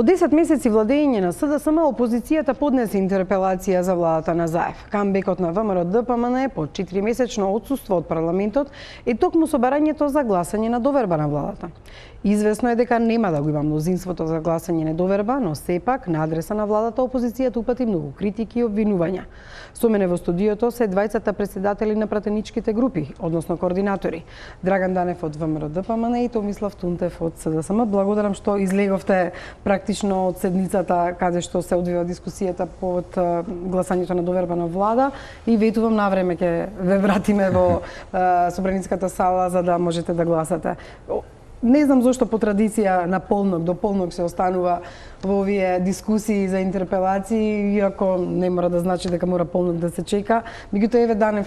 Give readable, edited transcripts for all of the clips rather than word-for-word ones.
По 10 месеци владење на СДСМ, опозицијата поднесе интерпелација за владата на Заев. Камбекот на ВМРО-ДПМН по 4-месечно отсуство од парламентот е токму собирањето за гласање на доверба на владата. Извесно е дека нема да го има мнозинството за гласање на доверба, но сепак на адреса на владата опозицијата упати многу критики и обвинувања. Со мене во студиото се двајцата претседатели на пратеничките групи, односно координатори. Драган Данев од ВМРО-ДПМН и Томислав Тунтев од СДСМ. Благодарам што излеговте практично од седницата каде што се одвива дискусијата под гласањето на доверба на влада и ветувам навреме ќе ве вратиме во собраницката сала за да можете да гласате. Не знам зошто по традиција на полнок до полнок се останува во овие дискусии за интерпелации, иако не мора да значи дека мора полнок да се чека. Меѓутоа, еве Данев,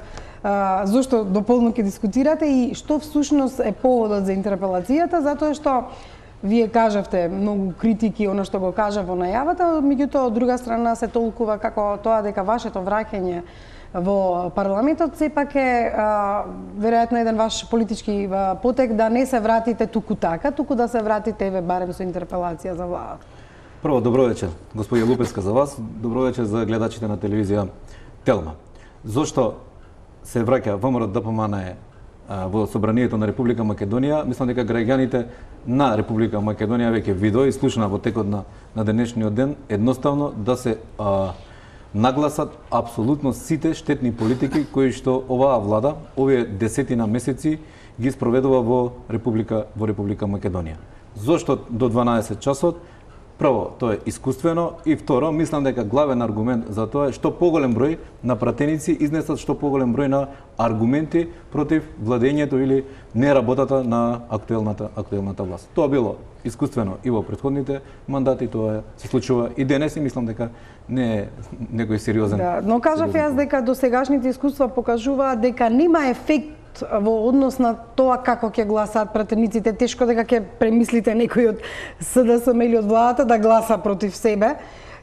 зошто до полнок ќе дискутирате и што всушност е поводот за интерпелацијата, затоа што вие кажавте многу критики, она што го кажа во најавата, меѓутоа од друга страна се толкува како тоа дека вашето враќање во парламентот сепак е веројатно еден ваш политички потек да не се вратите туку така, туку да се вратите еве барем со интерпелација за владата. Прво, добро вечер, господја Лупеска за вас, добро вечер за гледачите на телевизија Телма. Зошто се враќа ВМРО-ДПМН во собранието на Република Македонија? Мислам дека граѓаните на Република Македонија веќе видоа и слушна во текот на денешниот ден едноставно да се нагласат апсолутно сите штетни политики кои што оваа влада овие десетина месеци ги спроведува во Република Македонија. Зошто до 12 часот? Прво, тоа е искуствено и второ, мислам дека главен аргумент за тоа е што поголем број на пратеници изнесат што поголем број на аргументи против владењето или неработата на актуелната власт. Тоа било искуствено и во претходните мандати, тоа се случува и денес и мислам дека не е некој сериозен. Да, но кажав јас дека досегашните искуства покажуваат дека нема ефект во однос на тоа како ќе гласаат пратениците. Тешко дека ќе премислите некој од СДСМ или од владата да гласа против себе.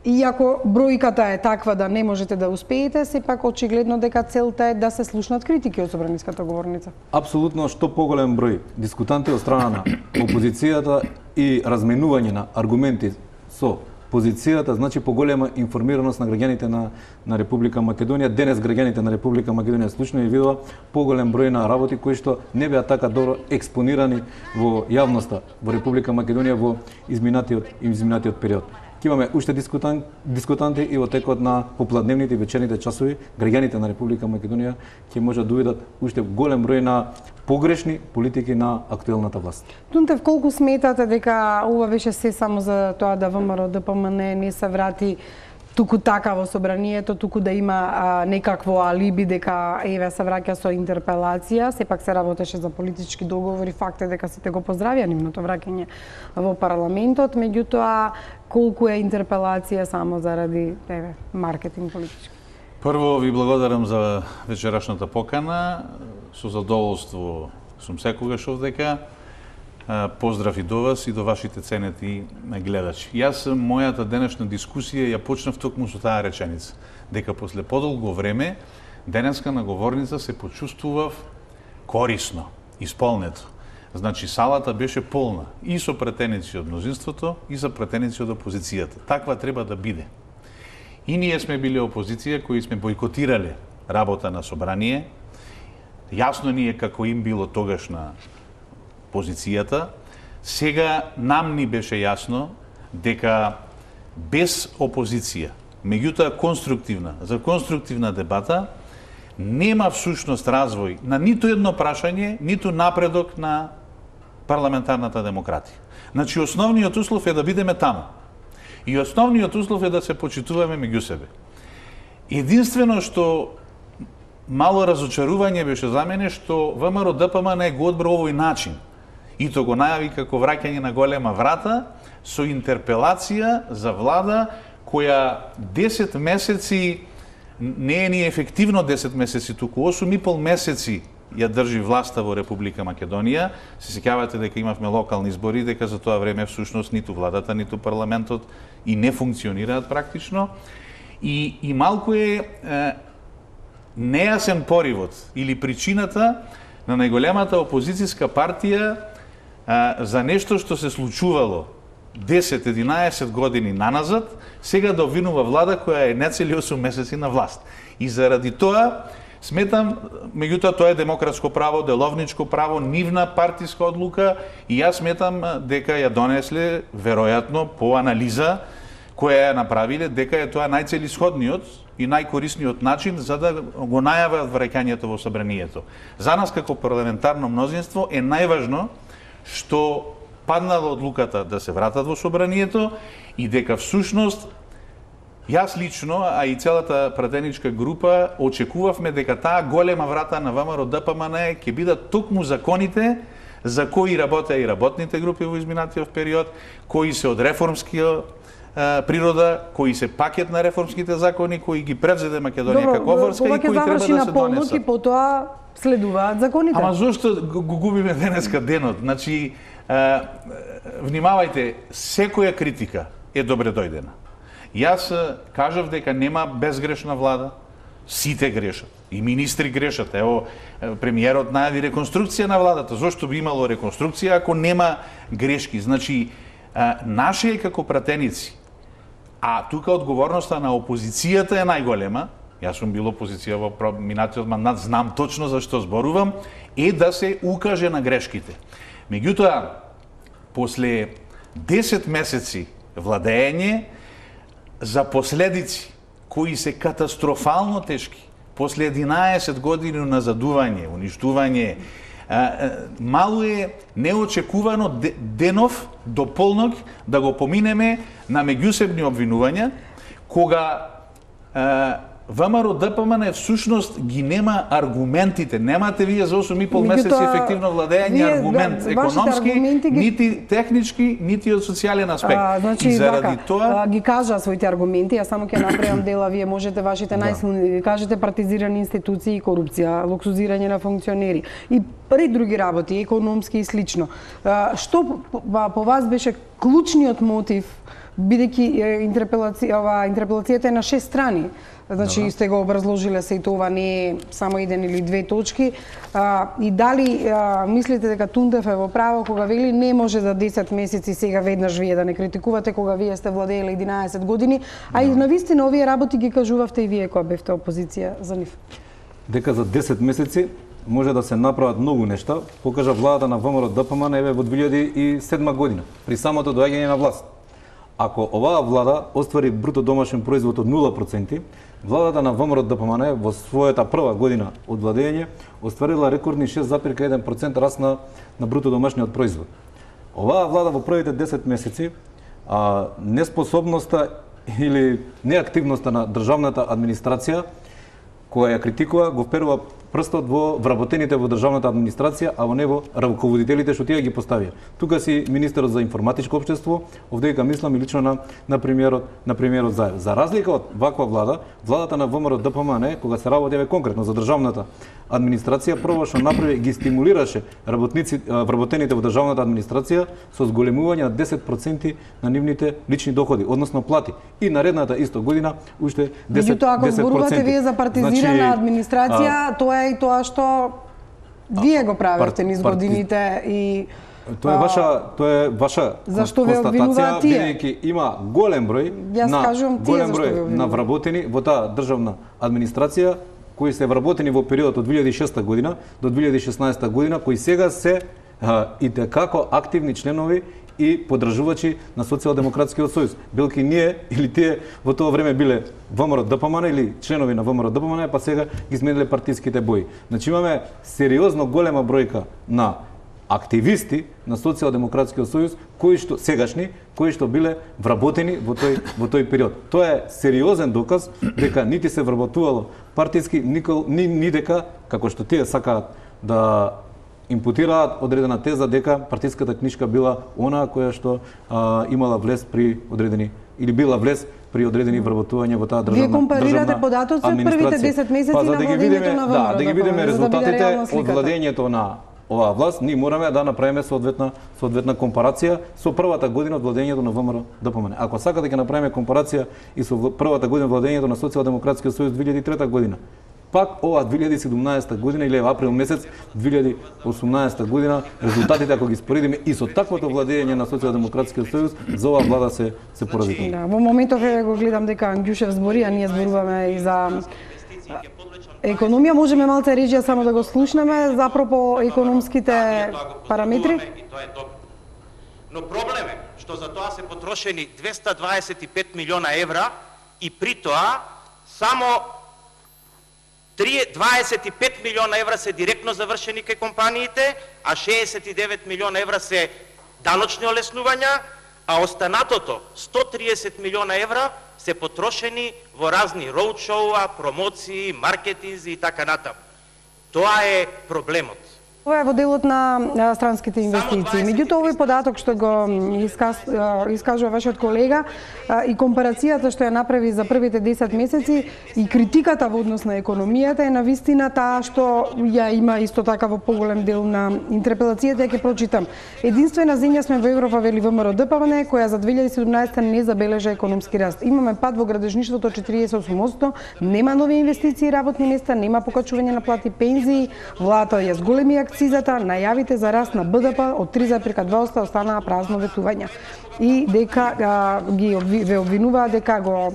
Иако бројката е таква да не можете да успеете, сепак очигледно дека целта е да се слушнат критики од собраниската говорница. Апсолутно, што поголем број дискутанти од страна на опозицијата и разменување на аргументи со позицијата, значи поголема информираност на граѓаните на Република Македонија. Денес граѓаните на Република Македонија слушна и видоа поголем број на работи кои што не беа така добро експонирани во јавноста во Република Македонија во изминатиот период. Ќе имаме уште дискутанти и во текот на попладневните и вечерните часови граѓаните на Република Македонија ќе можат да увидат уште голем број на погрешни политики на актуелната власт. Тунтев, колку сметате дека ова беше се само за тоа да ВМРО-ДПМН не се врати туку така во собранието, туку да има некакво алиби дека еве се враќа со интерпелација, сепак се работеше за политички договори, факт е дека сите го поздравија нивното враќање во парламентот, меѓутоа колку е интерпелација само заради маркетинг политички? Прво ви благодарам за вечерашната покана, со задоволство сум секогаш овдека. Поздрав и до вас и до вашите ценети гледачи. Јас мојата денешна дискусија ја почнав токму со таа реченица, дека после подолго време денеска на говорница се почувствував корисно, исполнето. Значи салата беше полна и со претеници од мнозинството и со претеници од опозицијата. Таква треба да биде. И ние сме били опозиција кои сме бойкотирале работа на собрание. Јасно ни е како им било тогаш на позицијата. Сега нам ни беше јасно дека без опозиција, меѓутоа конструктивна, за конструктивна дебата, нема всушност развој на ниту едно прашање, ниту напредок на парламентарната демократија. Значи, основниот услов е да бидеме таму. И основниот услов е да се почитуваме меѓу себе. Единствено што мало разочарување беше за мене што ВМРО-ДПМН го одбра овој начин. И то го најави како враќање на голема врата со интерпелација за влада која 10 месеци не е ни ефективно 10 месеци, туку 8,5 месеци ја држи власта во Република Македонија. Се сеќавате дека имавме локални избори, дека за тоа време всушност ниту владата, ниту парламентот и не функционираат практично. И малку е нејасен поривот или причината на најголемата опозицијска партија за нешто што се случувало 10-11 години наназад, сега да обвинува влада која е нецели 8 месеци на власт. И заради тоа сметам, меѓутоа тоа е демократско право, деловничко право, нивна партиска одлука и јас сметам дека ја донесле веројатно по анализа која ја направиле, дека е тоа најцелисходниот и најкорисниот начин за да го најават враќањето во собранието. За нас како парламентарно мнозинство е најважно што паднала одлуката да се вратат во собранието и дека всушност јас лично, а и целата пратеничка група очекувавме дека таа голема врата на ВМРО ДПМН ќе бидат токму законите за кои работеа и работните групи во изминатиот период, кои се од реформскија природа, кои се пакет на реформските закони, кои ги превзеде Македонија како врска и кои треба да се донесат. И потоа следуваат законите. Ама зошто го губиме денеска денот? Значи, внимавајте, секоја критика е добре дојдена. Јас кажав дека нема безгрешна влада, сите грешат. И министри грешат. Ево, премиерот најави реконструкција на владата. Зошто би имало реконструкција ако нема грешки? Значи, наше е како пратеници. А тука одговорноста на опозицијата е најголема. Јас сум бил опозиција во минатиот мандат, знам точно за што зборувам, е да се укаже на грешките. Меѓутоа, после 10 месеци владење, за последици кои се катастрофално тешки, после 11 години назадување, уништување, мало е неочекувано денов до полнок да го поминеме на меѓусебни обвинувања, кога ВМРО ДПМН всушност ги нема аргументите. Немате вие за 8,5 месеци ефективно владење аргумент економски, нити технички, нити од социјален аспект. Значи, и заради тоа ги кажа своите аргументи, јас само ќе направам дела, вие можете вашите најсилни, кажете партизирани институции и корупција, луксузирање на функционери и ред други работи, економски и слично. Што по вас беше клучниот мотив, бидејќи интерпелацијата е на 6 страни? Значи, сте го образложиле се и тоа не е само еден или две точки. И дали мислите дека Тундев е во право кога вели не може за 10 месеци сега веднаш вие да не критикувате кога вие сте владееле 11 години, а и навистина овие работи ги кажувавте и вие кога бевте опозиција за нив? Дека за 10 месеци може да се направат многу нешта, покажа владата на ВМРО ДПМН еве во 2007 година, при самото доаѓање на власт. Ако оваа влада оствари бруто домашен производ од 0%, владата на ВМРО ДПМН во својата прва година од владење остварила рекордни 6,1% раст на бруто домашниот производ. Оваа влада во првите 10 месеци неспособноста или неактивноста на државната администрација која ја критикува го вперува прстот во вработените во државната администрација, а во не во раководителите што тие ги поставија. Тука си министерот за информатичко општество, овдека мислам и лично на премиерот Заев. За разлика од ваква влада, владата на ВМРО ДПМН, кога се работеве конкретно за државната администрација, прво што направи ги стимулираше вработените во државната администрација со зголемување на 10% на нивните лични доходи, односно плати. И наредната исто година уште 10%. Меѓутоа, ако зборувате вие за партизирана администрација, тоа е и тоа што вие го правите низ годините и тоа е ваша констатација, бидејќи има голем број на вработени во таа државна администрација кои се вработени во периодот од 2006 година до 2016 година, кои сега се и текако активни членови и подржувачи на Социјалдемократскиот сојуз. Билки ние или тие во тоа време биле ВМРО ДПМН или членови на ВМРО ДПМН, па сега ги смениле партиските бои. Значи имаме сериозно голема бројка на активисти на Социјалдемократскиот сојуз кои што биле вработени во тој период. Тоа е сериозен доказ дека нити се вработувало партиски, ни дека како што тие сакаат да импутираат одредена теза дека партиската книжка била онаа која што имала влез при одредени или била влез при одредени вработувања во таа државна администрација. Вие компарирате податоци од првите 10 месеци на владењето на ВМРО. Да ги видиме резултатите од владењето на оваа власт, ние мораме да направиме соодветна компарација со првата година од владењето на ВМРО ДПМН. Ако сакате да ќе направиме компарација и со првата година од владењето на Социјалдемократскиот сојуз 2003 година, пак ова 2017 година или април месец 2018 година, резултатите ако ги споредиме и со таквото владење на Социјалдемократскиот сојуз, за оваа влада се поразителни. Да, во моментов го гледам дека Ангјушев збори, а ние зборуваме и за економија. Можеме малце режија само да го слушнеме за апропо економските параметри? Тоа е добро. Но проблем е што за тоа се потрошени 225 милиона евра и при тоа само 25 милиона евра се директно завршени кај компаниите, а 69 милиона евра се даночни олеснувања, а останатото 130 милиона евра се потрошени во разни роудшоуа, промоции, маркетинзи и така натаму. Тоа е проблемот. Ова е во делот на странските инвестиции. Меѓутоа, овој податок што го искажува вашиот колега и компарацијата што ја направи за првите 10 месеци и критиката во однос на економијата е навистина таа што ја има исто така во поголем дел на интерпелацијата, ја ќе прочитам. Единствена земја сме во Европа, вели ВМРО ДПМН, која за 2017 не забележа економски раст. Имаме пад во градежништвото 48%, нема нови инвестиции и работни места, нема покачување на плати, пензии, владата ја зголеми акцизата, најавите за раст на БДП од 3,2% останаа празно ветувања. И дека ве обвинуваа дека го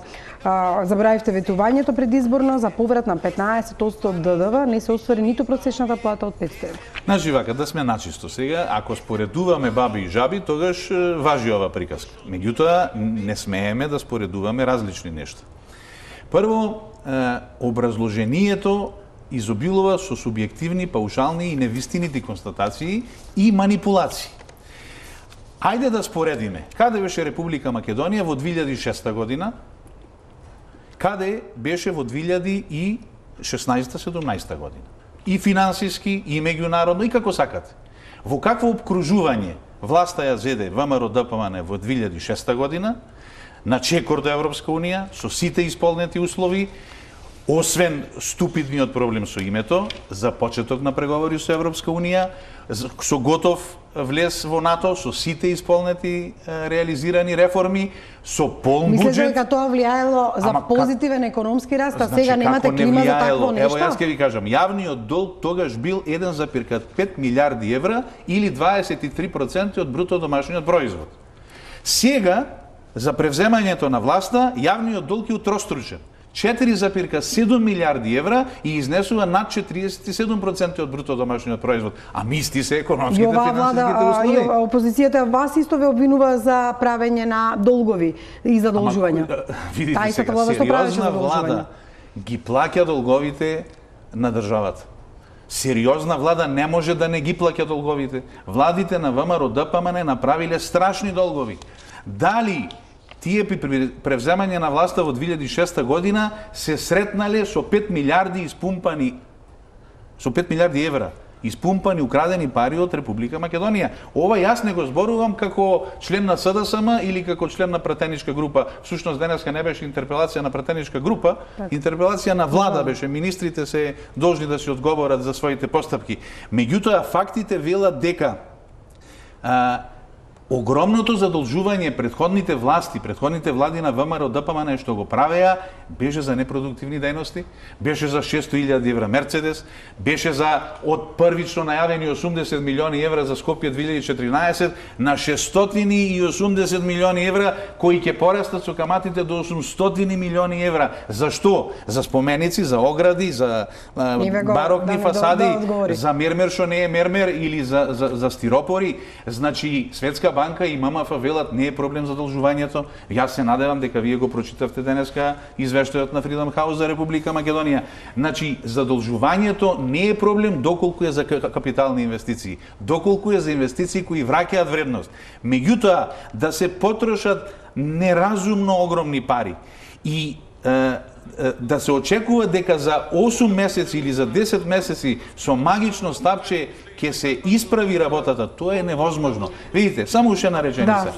забравивте ветувањето предизборно за поврат на 15% од ДДВ, не се оствари ниту просечната плата од 500 евра. Значи вака, да сме начисто сега, ако споредуваме баби и жаби, тогаш важи ова приказка. Меѓутоа, не смееме да споредуваме различни нешта. Прво, образложението изобилува со субјективни, паушални и невистинити констатации и манипулации. Ајде да споредиме. Каде беше Република Македонија во 2006 година? Каде беше во 2016-17 година? И финансиски, и меѓународно, и како сакате. Во какво обкружување власта ја зеде ВМРО ДПМН во 2006 година, на чекор до Европска Унија, со сите исполнети услови, освен ступидниот проблем со името, за почеток на преговори со Европска Унија, со готов влез во НАТО, со сите исполнети реализирани реформи, со полн буџет. Мислите дека тоа влијаело за позитивен економски раст, а сега немате клима за такво нешто? Ево, јас ќе ви кажам, јавниот долг тогаш бил 1,5 милиарди евра или 23% од бруто домашниот производ. Сега, за превземањето на власта, јавниот долг е утроstručен. 4,7 милиарди евра и изнесува над 47% од бруто домашниот производ. А мисти се економските финансиските услови. Опозицијата вас исто ве обвинува за правење на долгови и задолжувања. Видите сега, сериозна влада ги плаќа долговите на државата. Сериозна влада не може да не ги плаќа долговите. Владите на ВМРО ДПМН направиле страшни долгови. Дали тие при превземање на власта во 2006 година се сретнале со 5 милиарди испумпани, со 5 милиарди евра, испумпани, украдени пари од Република Македонија. Ова јас не го зборувам како член на СДСМ или како член на пратеничка група. Всушност денеска не беше интерпелација на пратеничка група, интерпелација на влада беше. Министрите се должни да се одговорат за своите постапки. Меѓутоа, фактите велат дека огромното задолжување претходните влади на ВМРО ДПМН што го правеа, беше за непродуктивни дејности, беше за 600.000 евра Мерцедес, беше за од првично најавени 80 милиони евра за Скопје 2014 на 680 милиони евра кои ќе порастат со каматите до 800 милиони евра. Зашто? За споменици, за огради, за барокни фасади, за мермер што не е мермер или за стиропори. Значи, Светска банка и ММФ велат не е проблем задолжувањето. Јас се надевам дека вие го прочитавте денеска извештајот на Freedom House за Република Македонија. Значи, задолжувањето не е проблем доколку е за капитални инвестиции, доколку е за инвестиции кои враќаат вредност. Меѓутоа, да се потрошат неразумно огромни пари и да се очекува дека за 8 месеци или за 10 месеци со магично стапче ќе се исправи работата, тоа е невозможно. Видите, само уште една реченица.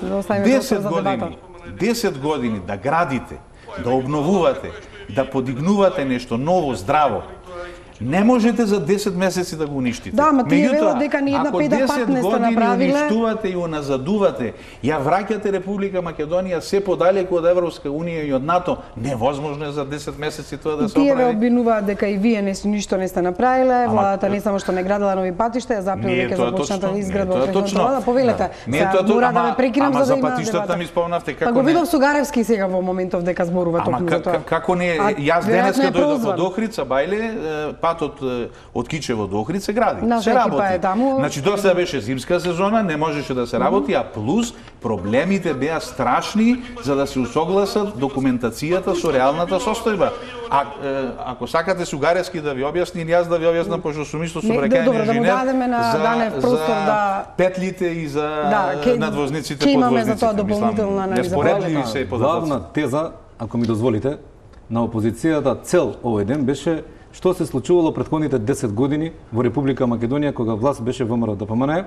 10 години да градите, да обновувате, да подигнувате нешто ново, здраво, Не можете за 10 месеци да го уништите. Да, ма тие велат дека ни една педа пат не сте направиле. Ако 10 години уништувате и уназадувате, ја враќате Република Македонија се подалеку од Европска унија и од НАТО, невозможно е за 10 месеци тоа да се оправи. Тие ве обвинуваат дека и вие ништо не сте направиле, владата не само што не градила нови патишта, ја заприл дека започната изградба од влада. Повелете. Мора да ве прекинам за да има патиштата ми спомнавте како. Па го видов Сугаревски сега во моментов дека зборува токму за тоа. Како не, јас денеска дојдов од Охрид, Бајле, патот од Кичево до Охрид се гради. Се работи. Значи до сега беше зимска сезона, не можеше да се работи, а плюс проблемите беа страшни за да се усогласат документацијата со реалната состојба. Ако сакате Сугаревски да ви објасни, или јас да ви објаснам, пошто сум исто собрекаен инженер за петлите и за надвозниците под возвиците. За тоа дополнителна неспоредливи се податоци. Главна теза, ако ми дозволите, на опозицијата цел овој ден беше што се случувало претходните 10 години во Република Македонија кога власт беше ВМРО ДПМН,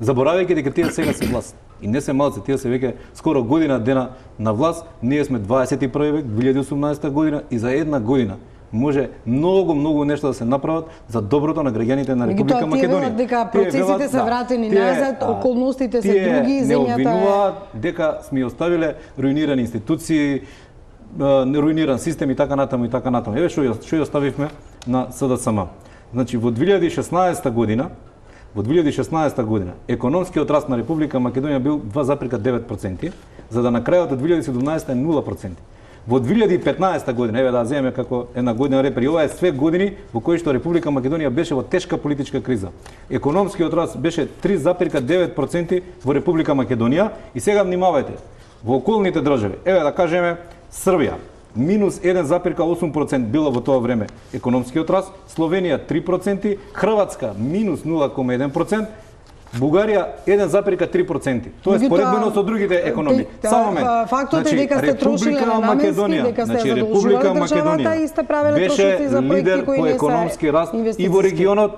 заборавајќи дека тие сега се власт. И не се малци, тие се веќе скоро година дена на власт, ние сме 21 век, 2018 година и за една година може многу нешто да се направат за доброто на граѓаните на Република Македонија. Дека процесите се вратени назад, околностите се други, земјата не обвинуваат дека сме оставиле руинирани институции, руиниран систем и така натаму и така натаму. Еве што ја оставивме на СДСМ. Значи во 2016 година економскиот раст на Република Македонија бил 2,9%, за да на крајот од 2017 е 0%. Во 2015 година, еве да земеме како една година репери, ова е све години во кои што Република Македонија беше во тешка политичка криза. Економскиот раст беше 3,9% во Република Македонија и сега внимавајте, во околните држави, еве да кажеме Србија, минус 1,8% било во тоа време економскиот раст, Словенија 3%, Хрватска минус 0,1%, Бугарија 1,3%. Тоа е споредбено со другите економии. Само момент. Фактот е дека сте трошиле на наменски, дека сте задолжувале државата и сте правеле трошоци за проекти кои не се економски раст и во регионот,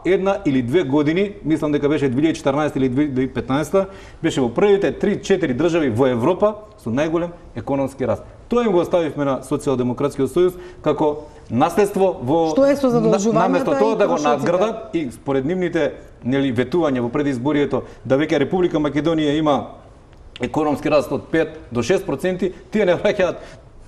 една или две години, мислам дека беше 2014 или 2015, беше во првите 3-4 држави во Европа со најголем економски раст. Тоа им го оставивме на Социјалдемократскиот сојуз како наследство во што е со задолжувањата, наместо тоа да го надградат и според нивните ветување во предизборието да веќе Република Македонија има економски раст од 5 до 6%, тие не враќаат,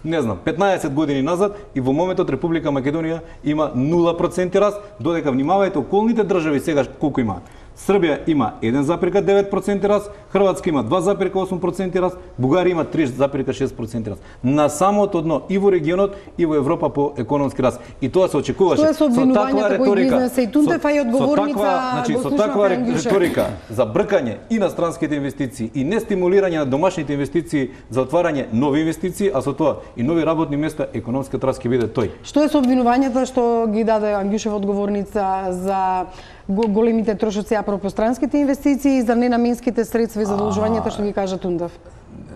не знам, 15 години назад и во моментот Република Македонија има 0% раст, додека внимавајте околните држави сега колку имаат. Србија има 1,9% раст, Хрватска има 2,8% раст, Бугарија има 3,6% раст. На самото дно и во регионот и во Европа по економски раст. И тоа се очекуваше. Тоа со обвинувањата кои изнесе и Тунтев и одговорница со таква риторика за бркање и на странските инвестиции и не стимулирање на домашните инвестиции за отварање нови инвестиции, а со тоа и нови работни места, економскиот раст ќе биде тој. Што е со обвинувањата што ги даде Ангјушев одговорница за големите трошоци апропо странските инвестиции и за ненаменските средства и задолжувањата што ги кажа Тундав?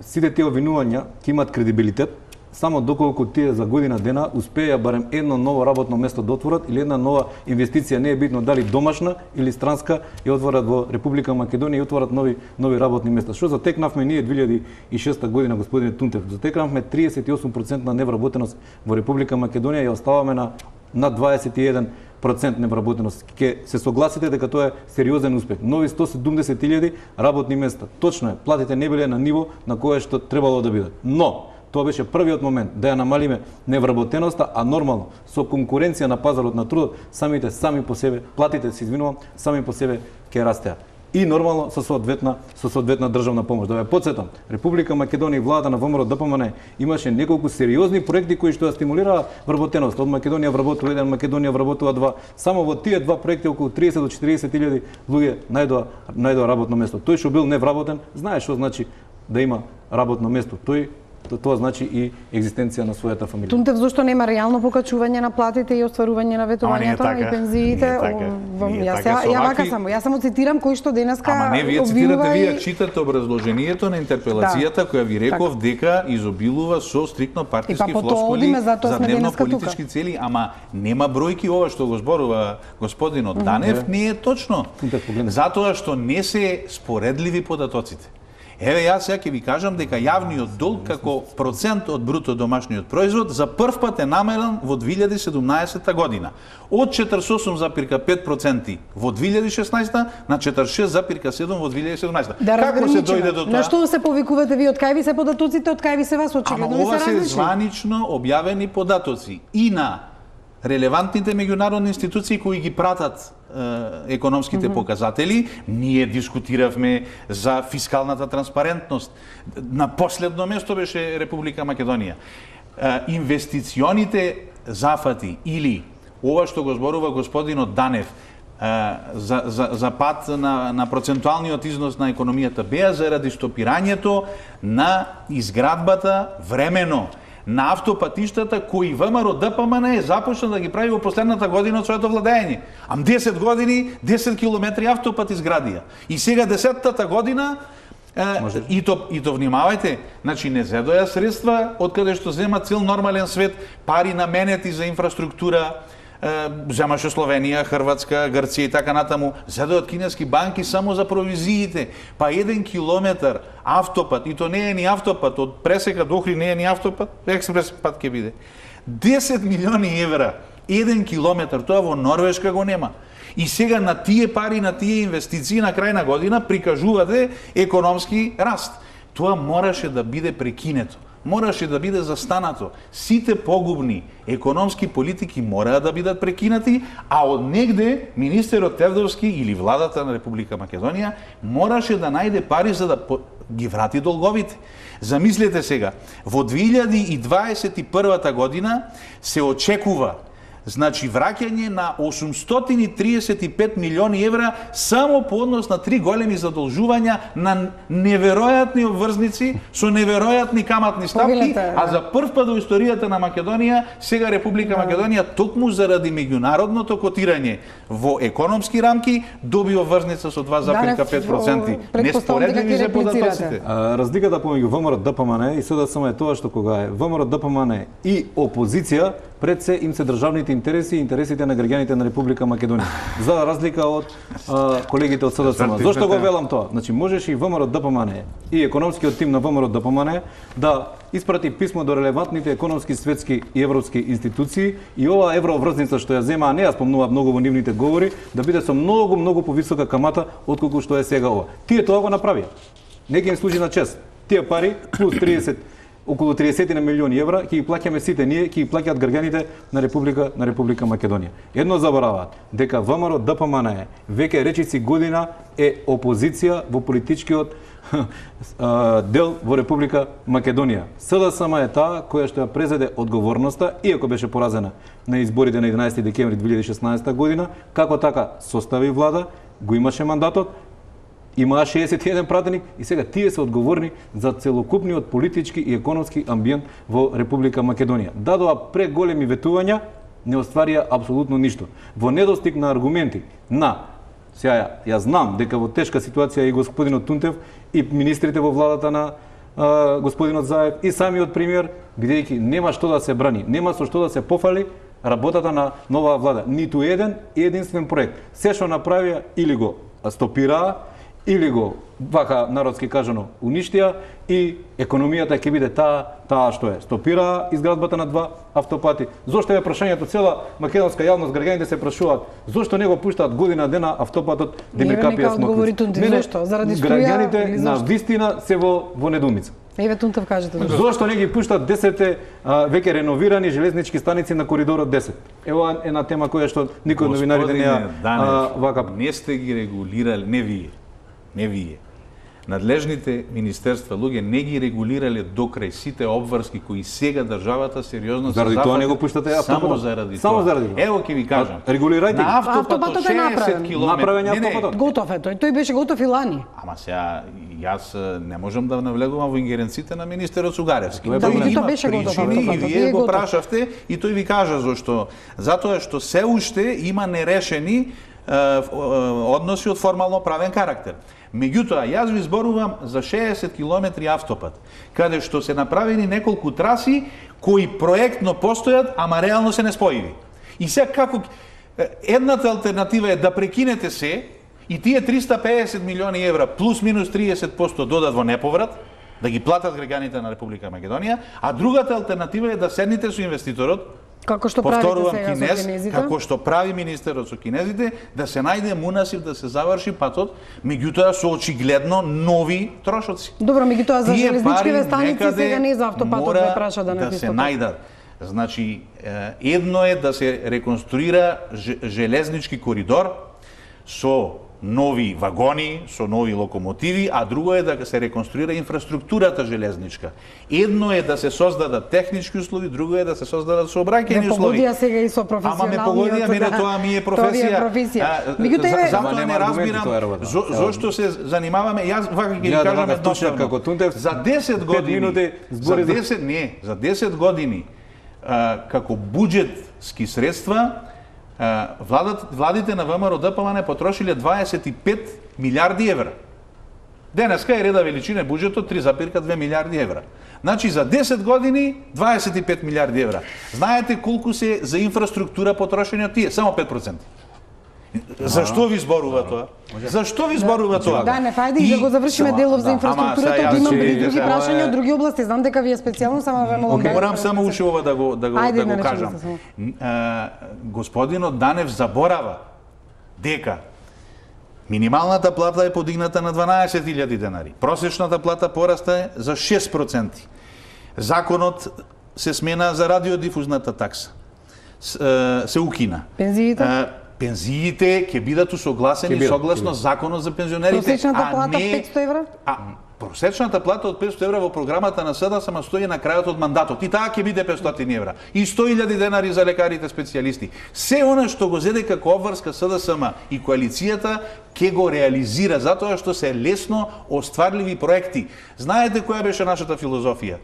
Сите тие обвинувања ќе имаат кредибилитет само доколку тие за година дена успеја барем едно ново работно место да отворат или една нова инвестиција, не е битно дали домашна или странска, ја отворат во Република Македонија и отворат нови работни места. Што затекнавме ние 2006 година, господине Тунтев, затекнавме 38% на невработеност во Република Македонија и оставаме на над 21% невработеност. Ке се согласите дека тоа е сериозен успех. Нови 170.000 работни места. Точно е, платите не биле на ниво на кое што требало да бидат. Но тоа беше првиот момент да ја намалиме невработеноста, а нормално со конкуренција на пазарот на трудот сами по себе платите, се извинувам, сами по себе ќе растеа. И нормално со соодветна државна помош. Да ве потсетам, Република Македонија и владата на ВМРО ДПМН имаше неколку сериозни проекти кои што ја стимулираа вработеност. Од Македонија вработува 1, Македонија вработува 2. Само во тие два проекти околу 30 до 40.000 луѓе најдоа работно место. Тој што бил невработен, знае што значи да има работно место. Тоа значи и екзистенција на својата фамилија. Тунтев, зошто нема реално покачување на платите и остварување на ветувањата и пензиите? Јас само цитирам кој што денеска Ама не, вие цитирате, вие читате образложението на интерпелацијата која ви реков дека изобилува со стриктно партиски флоскули за дневно политички цели, ама нема бројки. Ова што го зборува господинот Данев не е точно. Затоа што не се споредливи податоците. Еве јас сега ќе ви кажам дека јавниот долг како процент од бруто домашниот производ за прв пат е намален во 2017 година. Од 48,5% во 2016 на 46,7% во 2017. Како се дојде до тоа? На што се повикувате ви, од кај ви се податоците, од кај ви се вас, очигледно ви се различни? Ова се званично објавени податоци и на релевантните меѓународни институции кои ги пратат економските показатели. Ние дискутиравме за фискалната транспарентност. На последно место беше Република Македонија. Инвестиционите зафати или ова што го зборува господинот Данев за пат на процентуалниот износ на економијата беа заради стопирањето на изградбата времено на автопатиштата кои ВМРО ДПМН е започна да ги прави во последната година од своето владење. 10 години, 10 километри автопат изградија. И сега 10-та година и то внимавајте, значи не зедоја средства од каде што зема цел нормален свет, пари наменети за инфраструктура, земаше Словенија, Хрватска, Грција и така натаму, зедојат кинески банки само за провизиите. Па 1 километар автопат, и то не е ни автопат, од Пресека до Охрид не е ни автопат, експрес пат ќе биде. 10 милиони евра, 1 километар, тоа во Норвешка го нема. И сега на тие пари, на тие инвестиции на крај на година прикажувате економски раст. Тоа мораше да биде прекинето. Мораше да биде застанато. Сите погубни економски политики мораа да бидат прекинати, а од негде министерот Тевдовски или владата на Република Македонија мораше да најде пари за да ги врати долговите. Замислете сега, во 2021 година се очекува враќање на 835 милиони евра само по однос на 3 големи задолжувања на неверојатни обврзници со неверојатни каматни ставки, а за прв пат во историјата на Македонија сега Република Македонија токму заради меѓународното котирање во економски рамки доби обврзница со 2,5%. Неспоредливи се податоците. Разликата помеѓу ВМРО ДПМН и СДСМ е тоа што кога е ВМРО ДПМН и опозиција, пред се им се државните интереси и интересите на граѓаните на Република Македонија. За разлика од колегите од СДСМ. Зошто го велам тоа? Значи можеше и ВМРО ДПМН и економскиот тим на ВМРО ДПМН да испрати писмо до релевантните економски, светски и европски институции и ова евроврзница што ја зема, а не ја спомнува многу во нивните говори, да биде со многу повисока камата отколку што е сега ова. Тие тоа го направија. Не ги им служи на чест. Тие пари плюс 30 околу 30 на милиони евра ќе ги плаќаме сите ние, ќе ги плаќаат граѓаните на Република Македонија. Едно забораваат, дека ВМРО ДПМН веќе речиси година е опозиција во политичкиот дел во Република Македонија. СДСМ е таа која што ја презеде одговорноста, иако беше поразена на изборите на 11 декември 2016 година, како така состави влада, го имаше мандатот, имаа 61 пратеник и сега тие се одговорни за целокупниот политички и економски амбиент во Република Македонија. Дадоа преголеми ветувања, не остварија апсолутно ништо. Во недостиг на аргументи сега ја знам дека во тешка ситуација и господинот Тунтев и министрите во владата на господинот Заев и самиот премиер, бидејќи нема што да се брани, нема со што да се пофали работата на новаа влада. Ниту единствен проект. Се што направија или го стопираа, или го, вака народски кажано, уништија и економијата ќе биде таа што е. Стопира изградбата на 2 автопати. Зошто е прашањето, цела македонска јавност, граѓаните се прашуваат, зошто не го пуштаат година дена автопатот Демиркапија Смоквица? Зошто? Заради струја? Граѓаните на вистина се во недоумица. Еве Тунтев кажете. Зошто не ги пуштат 10 веќе реновирани железнички станици на коридорот 10? Ева една тема која што никој од новинарите вака. Не сте ги регулирали, не вие. Надлежните министерства луѓе не ги регулирале до крај сите обврски кои сега државата сериозно заради тоа не го пуштате автопатот. Само заради тоа. Ево ќе ви кажам. Регулирајте. На автопатот 60 км. Автопатот. Готов е тој беше готов и лани. Ама сега јас не можам да навлегувам во ингеренците на министерот Сугаревски. Тој беше готов автопатот. И вие го прашавте и тој ви кажа зошто. Затоа што се уште има нерешени односи од формално правен карактер. Меѓутоа, јас ви зборувам за 60 километри автопат, каде што се направени неколку траси кои проектно постојат, ама реално се неспојиви. И сега како едната алтернатива е да прекинете се и тие 350 милиони евра плюс минус 30% додат во неповрат, да ги платат граѓаните на Република Македонија, а другата алтернатива е да седнете со инвеститорот, како што правите сега со кинезите, како што прави министерот со кинезите, да се најде мунасив да се заврши патот, меѓутоа со очигледно нови трошоци. Добро, меѓутоа за железничките станици сега не за автопатот да праша да не се најдат. Значи, едно е да се реконструира железнички коридор со нови вагони, со нови локомотиви, а друго е да се реконструира инфраструктурата железничка. Едно е да се создадат технички услови, друго е да се создадат сообраќајни услови. Ме погодија сега и со професионалниот. Ама ме погодија, мене тоа ми е професија. Затоа не разбирам зошто се занимаваме. Јас вака ќе ви кажам едноставно. За 10 години, за 10 години како буџетски средства владите на ВМРО ДПМН потрошиле 25 милиарди евра. Денеска е реда величина буџетот 3,2 милиарди евра. Значи за 10 години 25 милиарди евра. Знаете колку се за инфраструктура потрошени од тие? Само 5%. Зашто ви зборува тоа? Зашто ви зборува тоа? Да, не фајде и да го завршиме делов за инфраструктурата, имам и други прашања од други области. Знам дека ви е специјално, само ве молам. Морам само уште ова да го кажам. Господинот Данев заборава дека минималната плата е подигната на 12.000 денари. Просечната плата порасте за 6%. Законот се смена за радиодифузната такса. Се укина. Пензиите ќе бидат усогласени согласно законот за пензионерите. Просечната плата 500 евра? Просечната плата од 500 евра во програмата на СДСМ стои на крајот од мандатот. И таа ќе биде 500 евра. И 100.000 денари за лекарите специјалисти. Се она што го зеде како обврска СДСМ и коалицијата ќе го реализира, затоа што се лесно остварливи проекти. Знаете која беше нашата филозофија?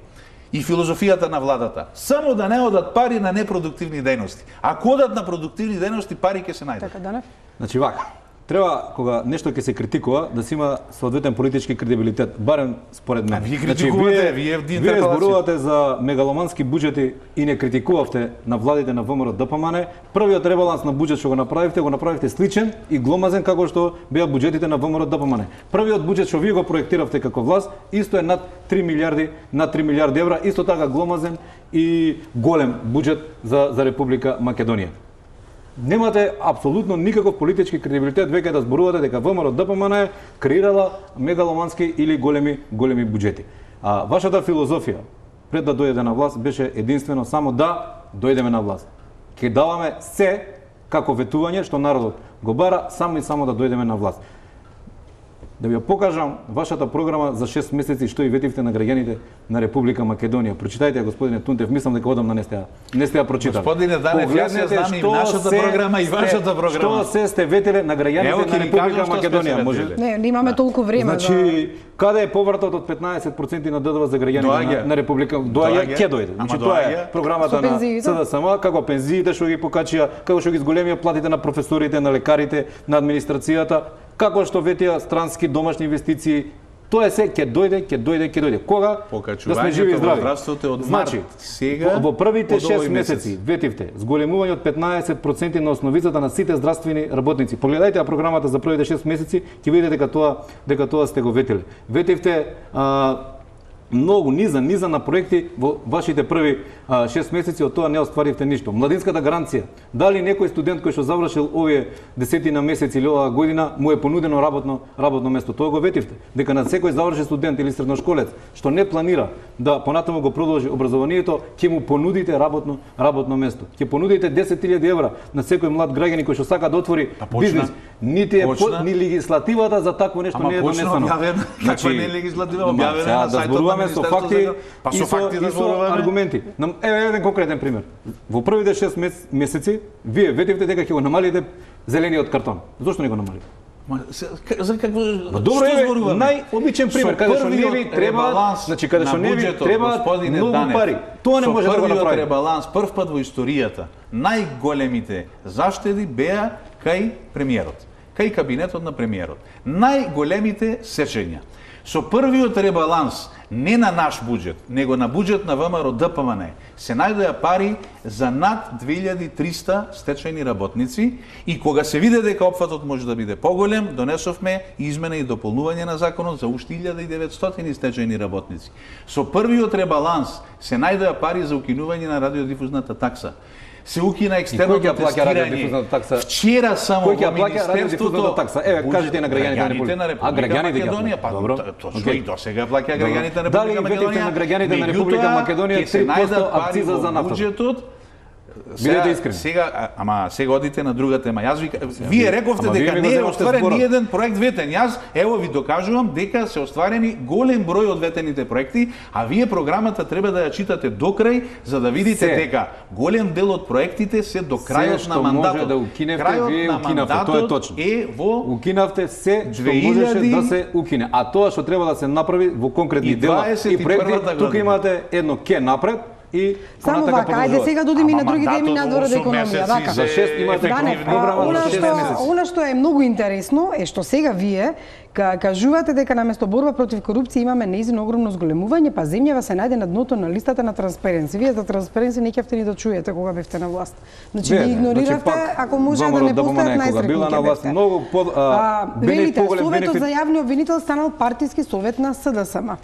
И филозофијата на владата. Само да не одат пари на непродуктивни дејности. Ако одат на продуктивни дејности, пари ќе се најдат. Така, Данев? Значи вака, треба кога нешто ќе се критикува да се има соодветен политички кредибилитет, барем според мене. Вие критикувате, вие зборувате за мегаломански буџети и не критикувавте на владите на ВМРО ДПМН. Првиот ребаланс на буџет што го направивте сличен и гломазен како што беа буџетите на ВМРО ДПМН. Првиот буџет што вие го проектиравте како власт исто е над 3 милиарди евра, исто така гломазен и голем буџет за Република Македонија. Немате апсолутно никаков политички кредибилитет веќе да зборувате дека ВМРО ДПМН креирала мегаломански или големи буџети. А вашата филозофија пред да дојдете на власт беше единствено само да дојдеме на власт. Ќе даваме се како ветување што народот го бара само и само да дојдеме на власт. Да ви ја покажам вашата програма за 6 месеци што и ветивте на граѓаните на Република Македонија. Прочитајте ја, господине Тунтев, мислам дека одам на не сте ја прочитали. Господине Данев, јас ја знам и нашата програма и вашата програма. Што се сте ветиле на граѓаните на Република Македонија? Може? Не имаме толку време. Значи, каде е повратот од 15% на ДДВ за граѓаните на Република? Доаѓа, ќе дојде. Значи тоа е програмата на СДСМ, како пензиите што ги покачија, како што ги зголемија платите на професорите, на лекарите, на администрацијата, како што ветија странски домашни инвестиции. Тоа е се ќе дојде. Кога? Да сме живи и здрави. Значи, сега во првите 6 месеци ветивте зголемување од 15% на основицата на сите здравствени работници. Погледајте ја програмата за првите 6 месеци, ќе видите дека тоа сте го ветиле. Ветивте многу низа на проекти во вашите први 6 месеци, од тоа не остваривте ништо. Младинската гаранција. Дали некој студент кој што завршил овие 10 месеци или оваа година му е понудено работно место? Тоа го ветивте. Дека на секој заврши студент или средношколец што не планира да понатаму го продолжи образованието, ќе му понудите работно место. Ќе понудите 10.000 евра на секој млад граѓанин кој што сака да отвори бизнис. Ни легислативата за такво нешто не е донесено. Значи, не е легислатива објавена на сајтот со факти и со аргументи. Еве еден конкретен пример. Во првите 6 месеци вие ветивте дека ќе го намалите зелениот картон. Зошто не го намалите? За какво? Добро е, најобичен пример, каде што не ви треба, значи каде што не ви треба многу пари. Тоа не може да го направи. Ребаланс прв пат во историјата, најголемите заштеди беа кај премиерот, кај кабинетот на премиерот. Најголемите сечења. Со првиот ребаланс, не на наш буџет, него на буџет на ВМРО ДПМН, се најдоа пари за над 2300 стечајни работници и кога се виде дека опфатот може да биде поголем, донесовме измена и дополнување на законот за уште 1900 стечајни работници. Со првиот ребаланс се најдоа пари за укинување на радиодифузната такса. Се укина екстерното тестирање. Вчера само во Министерството... Еве, кажете на граѓаните на Република Македонија. Добро. Точно и досега плаќа граѓаните на Република Македонија. Дали на граѓаните на Република Македонија 3% акциза за нафта? Бидете искрени. Сега одите на друга тема. Вие рековте дека не е остварен ни еден проект ветен. Јас ево ви докажувам дека се остварени голем број од ветените проекти, а вие програмата треба да ја читате до крај за да видите дека голем дел од проектите се до крајот на мандатот. Да укиневте, вие укинавте, тоа е точно. Укинавте се што можеше да се укине, а тоа што треба да се направи во конкретни дела и проекти, тука имате едно ке напред. Само вака, ајде сега додиме на други теми надвор од економија, вака. За 6 имате програма за 6 месеци. Она што е многу интересно е што сега вие кажувате дека наместо борба против корупција имаме неизино огромно зголемување, па земјава се најде на дното на листата на Transparency. Вие за Transparency не ќевте ни да чуете кога бевте на власт. Значи ги игнориравте, ако може да не постојат најстрекни ќе бевте. Многу велите, Советот за јавни обвинител станал партиски совет на СДСМ.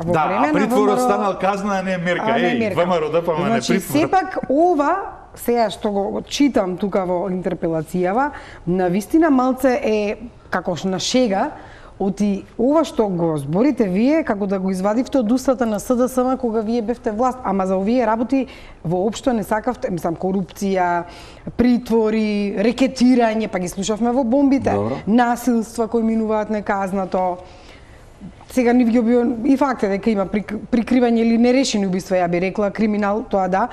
Да, притворот станал казна, а не мерка. ВМРО ДПМН значи, притвор. Сепак ова, сега што го читам тука во интерпелацијава, навистина малце е како на шега, оти ова што го зборите вие, како да го извадивте од устата на СДСМ кога вие бевте власт, ама за овие работи воопшто не сакавте, мислам, корупција, притвори, рекетирање, па ги слушавме во бомбите, насилства кои минуваат неказнато. Сега ни ги и факт е дека има прикривање или нерешени убиства, ја би рекла, криминал, тоа да.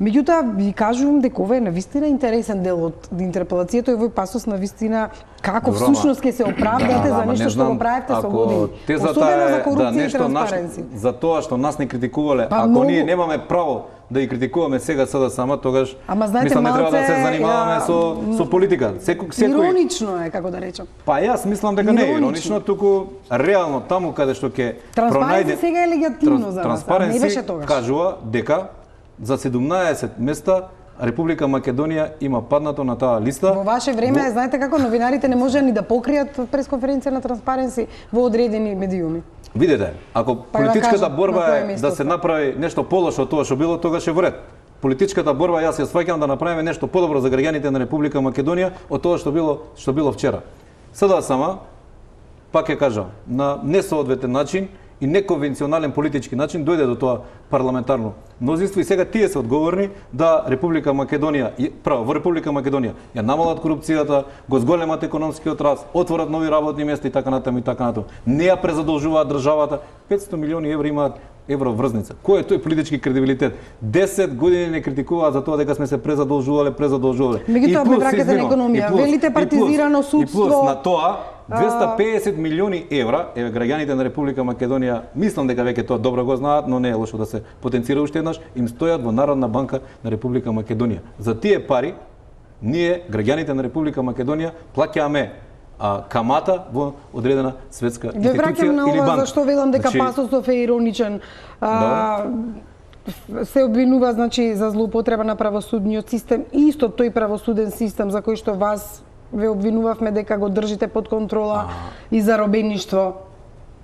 Меѓутоа, ви кажувам дека ова е навистина интересен дел од интерпелацијата и овој пасос навистина како всушност ќе се оправдате за нешто што го правите со години. Особено за корупција и транспаренци. За тоа што нас не критикувале, ако ние немаме право да ги критикуваме сега СДСМ, тогаш мислам не треба да се занимаваме со политика. Иронично е, како да речам. Па јас мислам дека не е иронично, туку реално таму каде што ќе пронајде сега е легитимно за вас, не беше тогаш. Кажува дека за 17 места Република Македонија има паднато на таа листа. Во ваше време, знаете како новинарите не може ни да покријат пресконференција на Transparency во одредени медиуми. Видете, ако политичката борба е да се направи нешто полошо од тоа што било, тогаш е во ред. Политичката борба јас ја сваќам да направиме нешто подобро за граѓаните на Република Македонија од тоа што било вчера. Сега сама пак ќе кажам, на несоодветен начин и неконвенционален политички начин дојде до тоа парламентарно мнозинство и сега тие се одговорни да Република Македонија, во Република Македонија ја намалат корупцијата, го зголемат економскиот раст, отворат нови работни места и така натаму и така натаму. Не ја презадолжуваат државата, 500 милиони евра имаат евроврзница. Кој е тој политички кредибилитет? 10 години не критикуваат за тоа дека сме се презадолжувале. Меѓутоа ме враќате на економија, велите партизирано судство. И плюс на тоа 250 милиони евра, еве граѓаните на Република Македонија, мислам дека веќе тоа добро го знаат, но не е лошо да се потенцира уште еднаш, им стојат во Народна банка на Република Македонија. За тие пари ние граѓаните на Република Македонија плаќаме камата во одредена светска институција или банка. Ве враќам на ова зашто велам дека пасосов е ироничен. Се обвинува, значи, за злоупотреба на правосудниот систем, исто тој правосуден систем за кој што вас ве обвинувавме дека го држите под контрола и заробеништво.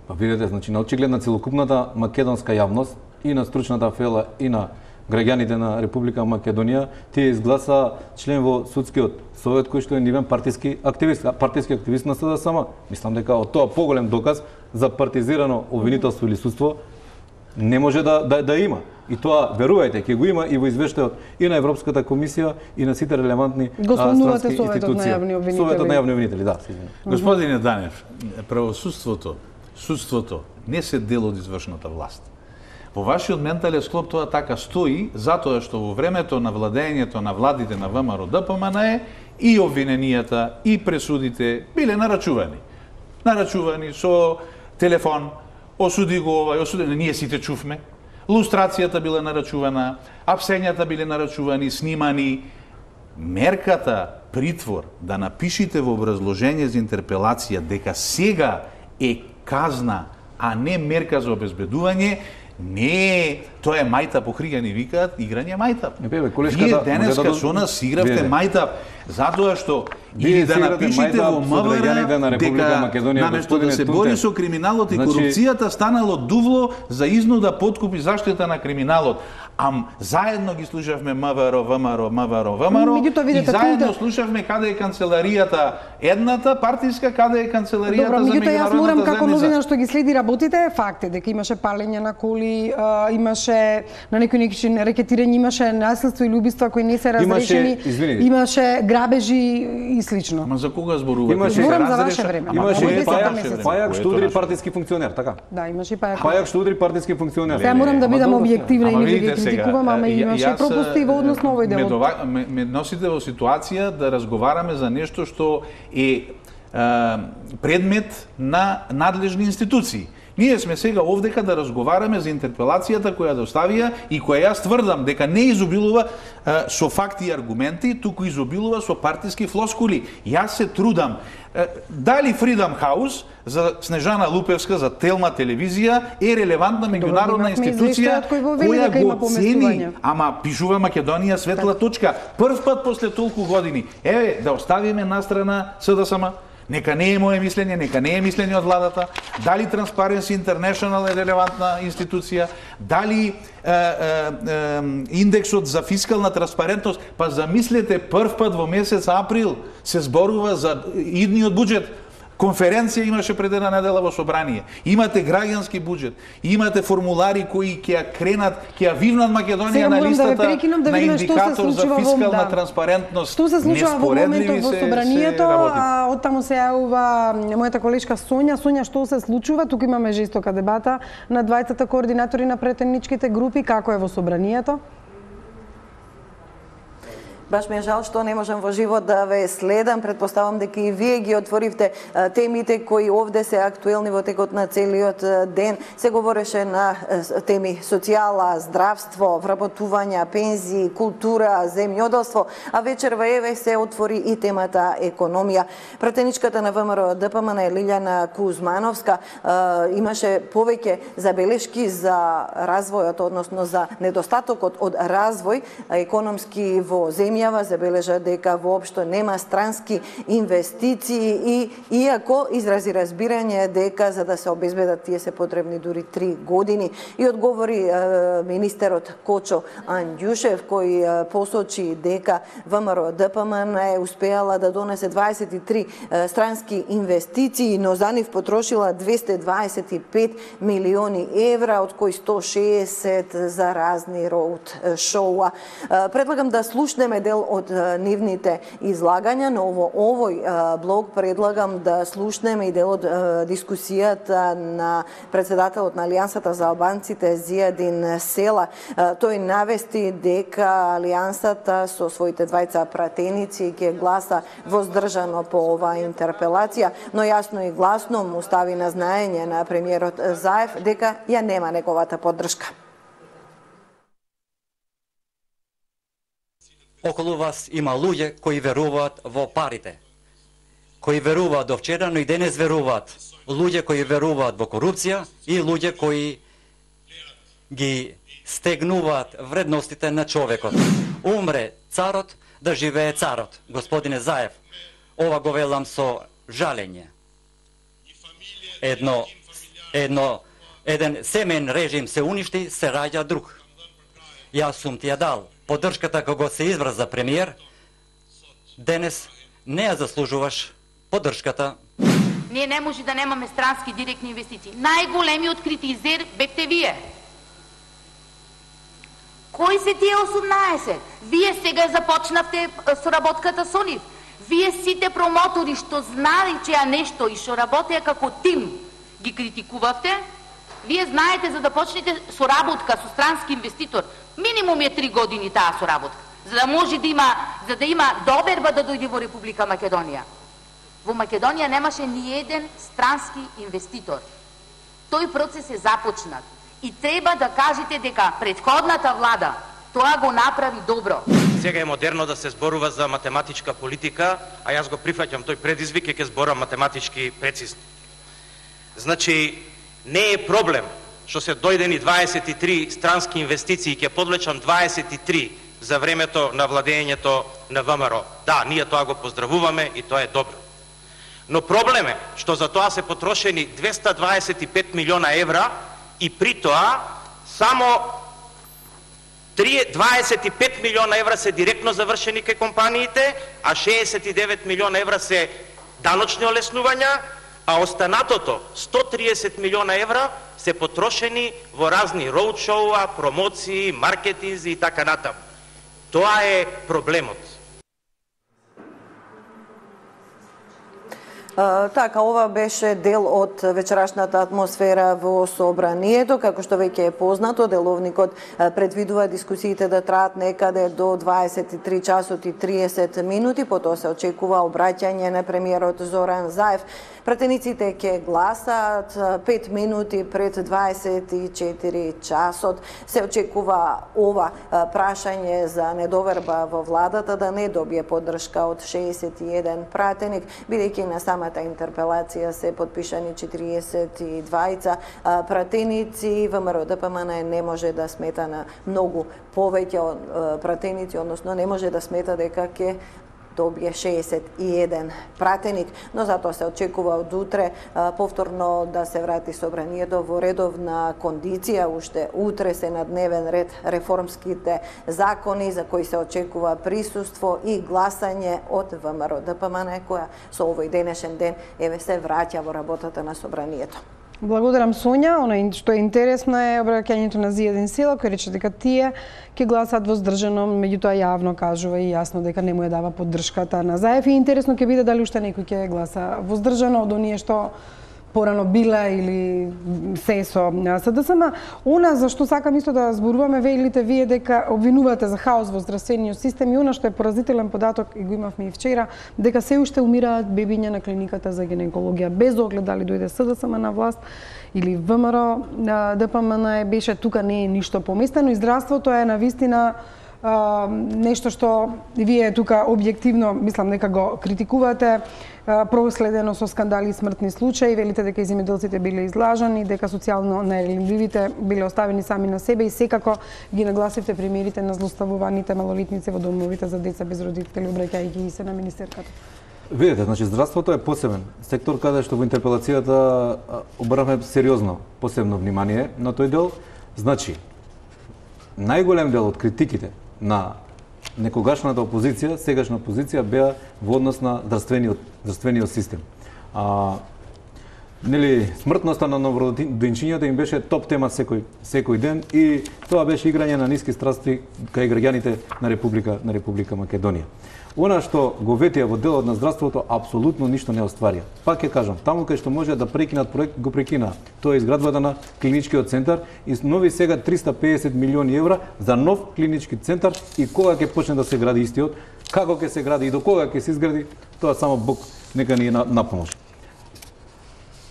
Па видите, значи на очиглед на целокупната македонска јавност и на стручната фела и на граѓаните на Република Македонија, тие изгласа член во судскиот совет кој што е нивен партиски активист на СДСМ. Мислам дека од тоа поголем доказ за партизирано обвинителство или судство не може да има. И тоа, верувајте, ќе го има и во извештајот и на Европската комисија и на сите релевантни странски институции. Советот на јавни обвинители, да. Господине Данев, судството не се дел од извршната власт. Во вашиот ментален склоп тоа така стои, затоа што во времето на владењето на владите на ВМРО ДПМН и обвиненијата и пресудите биле нарачувани. Нарачувани со телефон, осуди го овај, осуди, ние сите чувме. Лустрацијата биле нарачувана, апсењата биле нарачувани, снимани. Мерката притвор да напишите во образложение за интерпелација дека сега е казна, а не мерка за обезбедување, не, тоа е мајтап, охриѓани викаат, играње мајтап. Вие денеска со нас игравте мајтап, затоа што или да напишете во МВР дека наместо да се бори со криминалот и корупцијата станало дувло за изнуда, подкуп и заштита на криминалот. Заедно ги слушавме МВР, и заедно слушавме каде е канцеларијата едната партиска, каде е канцеларијата за меѓународната заедница. Јас морам како новинар што ги следи работите, факт е дека имаше палење на коли, имаше на некој начин рекетирање, имаше насилство или убиства кои не се разрешени, имаше грабежи и слично. Ама за кога зборувате? Зборам за ваше време. Имаше пајак што удри партиски функционер, така? Да, имаше пајак. Пајак што удри партиски функционер. Сега морам да бидам објективна и не да ги критикувам, ама имаше пропусти во однос на овој дел. Ме носите во ситуација да разговараме за нешто што е предмет на надлежни институции. Ние сме сега овдека да разговараме за интерпелацијата која доставија и која јас тврдам дека не изобилува со факти и аргументи, туку изобилува со партиски флоскули. Јас се трудам. Дали Freedom House за Снежана Лупевска, за Телма телевизија е релевантна меѓународна институција која го цени, ама пишува Македонија светла точка. Прв пат после толку години. Еве, да оставиме настрана СДСМ. Нека не е моје мислење, нека не е мислење од владата, дали Transparency International е релевантна институција, дали индексот за фискална транспарентност, па замислете прв пат во месец април се зборува за идниот буџет. Конференција имаше пред една недела во собрание. Имате граѓански буџет, имате формулари кои ќе ја кренат, ќе ја вивнат Македонија на листата на индикатор за фискална транспарентност. Што се случува во моментот во собранието, а оттаму се јавува мојата колешка Сонја. Сонја, што се случува? Туку имаме жестока дебата на двајцата координатори на претеничките групи, како е во собранието? Баш ми е жал што не можам во живот да ве следам. Предпоставам дека и вие ги отворивте темите кои овде се актуелни во текот на целиот ден. Се говореше на теми социјала, здравство, вработувања, пензии, култура, земјоделство, а вечер во ЕВЕ се отвори и темата економија. Пратеничката на ВМРО ДПМН Лилјана Кузмановска имаше повеќе забелешки за развојот, односно за недостатокот од развој економски во земја. Забележа дека воопшто нема странски инвестиции и иако изрази разбирање дека за да се обезбедат тие се потребни дури 3 години. И одговори министерот Кочо Андјушев кој посочи дека ВМРО ДПМН е успеала да донесе 23 странски инвестиции, но за нив потрошила 225 милиони евра, од кои 160 за разни роуд шоуа. Предлагам да слушнеме дел од нивните излагања, но во овој блог предлагам да слушнеме и дел од дискусијата на председателот на Алијансата за албанците Зијадин Села. Тој навести дека Алијансата со своите двајца пратеници ќе гласа воздржано по оваа интерпелација, но јасно и гласно му стави на знаење на премиерот Заев дека ја нема неговата поддршка. Околу вас има луѓе кои веруваат во парите, кои веруваат до вчера, но и денес веруваат. Луѓе кои веруваат во корупција и луѓе кои ги стегнуваат вредностите на човекот. Умре царот, да живее царот. Господине Заев, ова го велам со жалење. Еден семен режим се уништи, се раѓа друг. Јас сум ти ја дал поддршката кога се избра за премиер. Денес не ја заслужуваш поддршката. Ние не може да немаме странски директни инвестиции. Најголемиот критизер бевте вие. Кои се тие 18? Вие сега започнавте соработката со нив. Вие сите промотори што знали че ја нешто и што работеа како тим ги критикувавте. Вие знаете за да почнете соработка со странски инвеститор, минимум е 3 години таа соработка, за да може да има доверба да дојде во Република Македонија. Во Македонија немаше ни еден странски инвеститор. Тој процес е започнат и треба да кажете дека претходната влада тоа го направи добро. Сега е модерно да се зборува за математичка политика, а јас го прифаќам тој предизвик и ќе зборам математички прецизно. Значи, не е проблем што се дојдени 23 странски инвестиции, ќе подлечам 23 за времето на владењето на ВМРО. Да, ние тоа го поздравуваме и тоа е добро. Но проблем е што за тоа се потрошени 225 милиона евра и при тоа само 25 милиона евра се директно завршени кај компаниите, а 69 милиона евра се даночни олеснувања, а останатото 130 милиона евра се потрошени во разни роудшоуа, промоции, маркетинзи и така натаму. Тоа е проблемот. Така, ова беше дел од вечерашната атмосфера во собранието. Како што веќе е познато, деловникот предвидува дискусиите да траат некаде до 23 часот и 30 минути. Потоа се очекува обраќање на премиерот Зоран Заев. Пратениците ќе гласаат 5 минути пред 24 часот. Се очекува ова прашање за недоверба во владата да не добие поддршка од 61 пратеник, бидејќи на самата интерпелација се подпишани 42 пратеници. ВМРО ДПМН не може да смета на многу повеќе пратеници, односно не може да смета дека ќе добие 61 пратеник, но затоа се очекува од утре повторно да се врати собранието во редовна кондиција. Уште утре се на дневен ред реформските закони за кои се очекува присуство и гласање од ВМРО ДПМН, која со овој денешен ден еве се враќа во работата на собранието. Благодарам, Сонја. Она што е интересно е обраќањето на Зијадин Села, кој рече дека тие ќе гласаат воздржано, меѓутоа јавно кажува и јасно дека не му ја дава поддршката на Заев. И интересно ќе биде дали уште некој ќе гласа воздржано од оние што порано била или се со СДСМ. Она за што сакам исто да зборуваме, велите вие дека обвинувате за хаос во здравствениот систем и она што е поразителен податок и го имавме и вчера, дека се уште умираат бебиња на клиниката за гинекологија без оглед дали дојде СДСМ на власт или ВМРО ДПМН беше, тука не е ништо поместено и здравството е навистина нешто што вие тука објективно мислам дека го критикувате, проследено со скандали и смртни случаи, велите дека и земјоделците биле излажани, дека социјално најранливите биле оставени сами на себе и секако ги нагласивте примерите на злоставуваните малолетници во домовите за деца без родители, обраќајќи се на министерката. Видете, значи здравството е посебен сектор каде што во интерпелацијата обрнавме сериозно посебно внимание на тој дел. Значи, најголем дел од критиките на некогашната опозиција, сегашна опозиција беа во однос на здравствениот систем. Нели смртноста на новороденчињата им беше топ тема секој ден и тоа беше играње на ниски страсти кај граѓаните на Република Македонија. Она што го ветија во делот на здравството апсолутно ништо не остварија. Пак ќе кажам, таму кај што може да прекинат проект, го прекинаа. Тоа е изградбата на клиничкиот центар и нови сега 350 милиони евра за нов клинички центар и кога ќе почне да се гради истиот, како ќе се гради и до кога ќе се изгради, тоа само Бог нека ни на помош.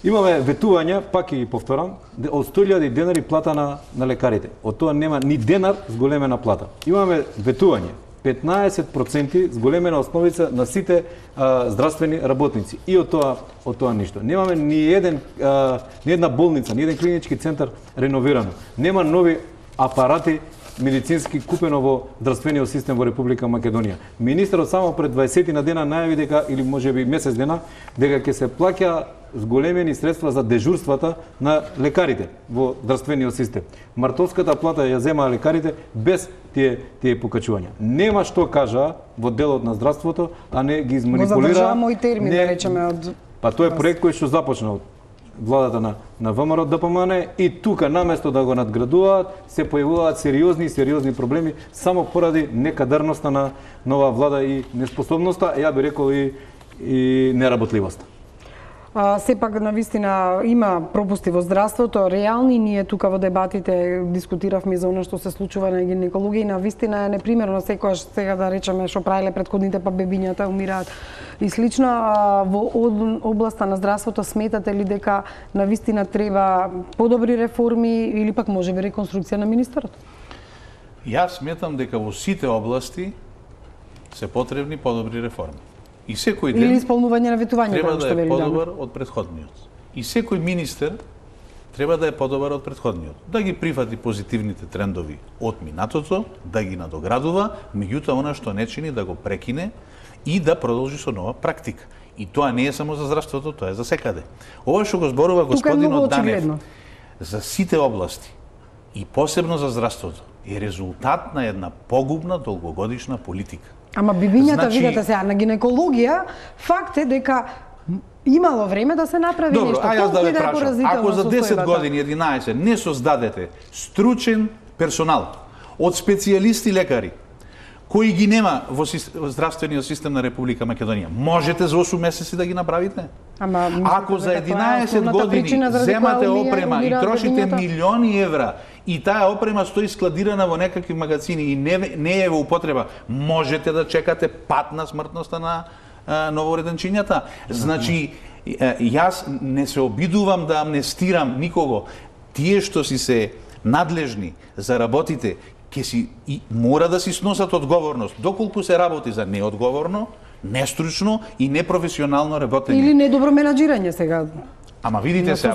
Имаме ветувања, пак и повторам, од 100.000 денари плата на лекарите. Од тоа нема ни денар зголемена плата. Имаме ветување 15% зголемена основица на сите здравствени работници. И од тоа ништо. Немаме ни една болница, ни еден клинички центар реновирано. Нема нови апарати медицински купено во здравствениот систем во Република Македонија. Министерот само пред 20 на дена најави дека, или можеби месец дена, дека ќе се плаќа зголемени средства за дежурствата на лекарите во здравствениот систем. Мартовската плата ја земаа лекарите без тие покачувања. Нема што кажа во делот на здравството, а не ги изманипулира. Го задржава мој термин, да речеме од... Па тоа е проект кој што започна од владата на ВМРО ДПМН и тука наместо да го надградуваат се појавуваат сериозни проблеми само поради некадарноста на нова влада и неспособноста, ја би рекол и неработливоста. Сепак навистина има пропусти во здравството, реални. Ние тука во дебатите дискутиравме за она што се случува на гинекологија и навистина е непримерно секогаш сега да речеме што правиле претходните па бебињата умираат и слично. Во областа на здравството сметате ли дека навистина треба подобри реформи или пак можеби реконструкција на министерот? Јас сметам дека во сите области се потребни подобри реформи. И секој ден или исполнување на ветувањето треба што да вели е подобар од претходниот. И секој министер треба да е подобар од претходниот. Да ги прифати позитивните трендови од минатото, да ги надоградува, меѓутоа она што не чини да го прекине и да продолжи со нова практика. И тоа не е само за здравството, тоа е за секаде. Ова што го зборува господинот Данев за сите области и посебно за здравството е резултат на една погубна долгогодишна политика. Ама бибињата, видете сега, на гинекологија, факт е дека имало време да се направи добро, нешто. Добро, јас да ве прашам, ако за 10 состојбата години, 11, не создадете стручен персонал од специјалисти лекари, кои ги нема во здравствениот систем на Република Македонија, можете за 8 месеци да ги направите? Ама, ако за 11 години земате опрема и трошите милиони евра и таа опрема стои складирана во некакви магазини и не е во употреба, можете да чекате пат на смртноста на новореденчињата. Значи, јас не се обидувам да амнестирам никого. Тие што си се надлежни за работите, ќе си и мора да си сносат одговорност. Доколку се работи за неодговорно, нестручно и непрофесионално работење. Или недобро менаџирање сега. Ама видите сега,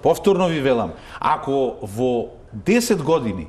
повторно ви велам, ако во 10 години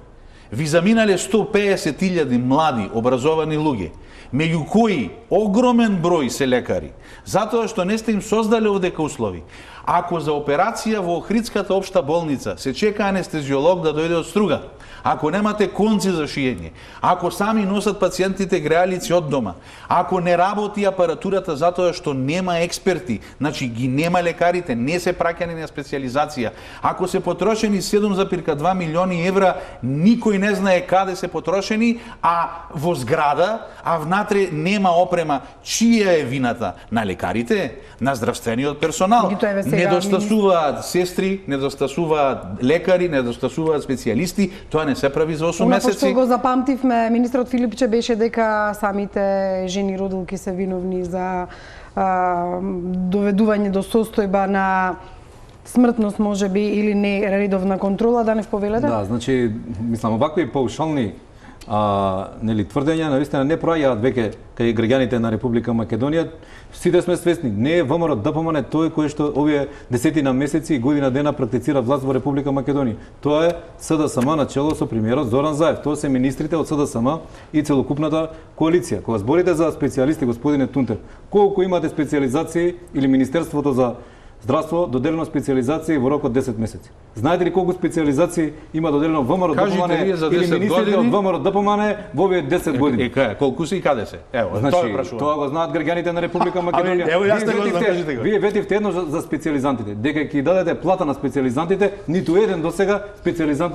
ви заминале 150.000 млади образовани луѓе, меѓу кои огромен број се лекари, затоа што не сте им создале овдека услови. Ако за операција во Охридската општа болница се чека анестезиолог да дојде од Струга, ако немате конци за шиење, ако сами носат пациентите греалици од дома, ако не работи апаратурата затоа што нема експерти, значи ги нема лекарите, не се праќани на специализација, ако се потрошени 7,2 милиони евра, никој не знае каде се потрошени, а во зграда, а внатре нема опрема, чија е вината? На лекарите, на здравствениот персонал. Недостасуваат сестри, недостасуваат лекари, недостасуваат специјалисти, тоа не се прави за 8 месеци. Што го запамтивме, министрот Филипче беше дека самите жени родилки се виновни за доведување до состојба на смртност можеби или не редовна контрола, да не повелете? Да, значи, мислам, овакви паушални тврдења навистина не проаѓаат веќе кај граѓаните на Република Македонија. Сите сме свесни, не е ВМРО ДПМН тој кој што овие десетина месеци и година дена практицира власт во Република Македонија. Тоа е СДСМ на чело со премиерот Зоран Заев. Тоа се министрите од СДСМ и целокупната коалиција. Кога зборите за специјалисти, господине Тунтер, колку имате специјализации или Министерството за здравство доделено специјализации во рок од 10 месеци? Знаете ли колку специјализации има доделено ВМРО ДПМН или министрите од ВМРО ДПМН во овие 10 години? Колку се и каде се? Ево, значи, тоа го знаат граѓаните на Република Македонија. Ево, јас го знам, вие ветивте едно за специјализантите, дека ќе дадете плата на специјализантите, ниту еден досега специјализант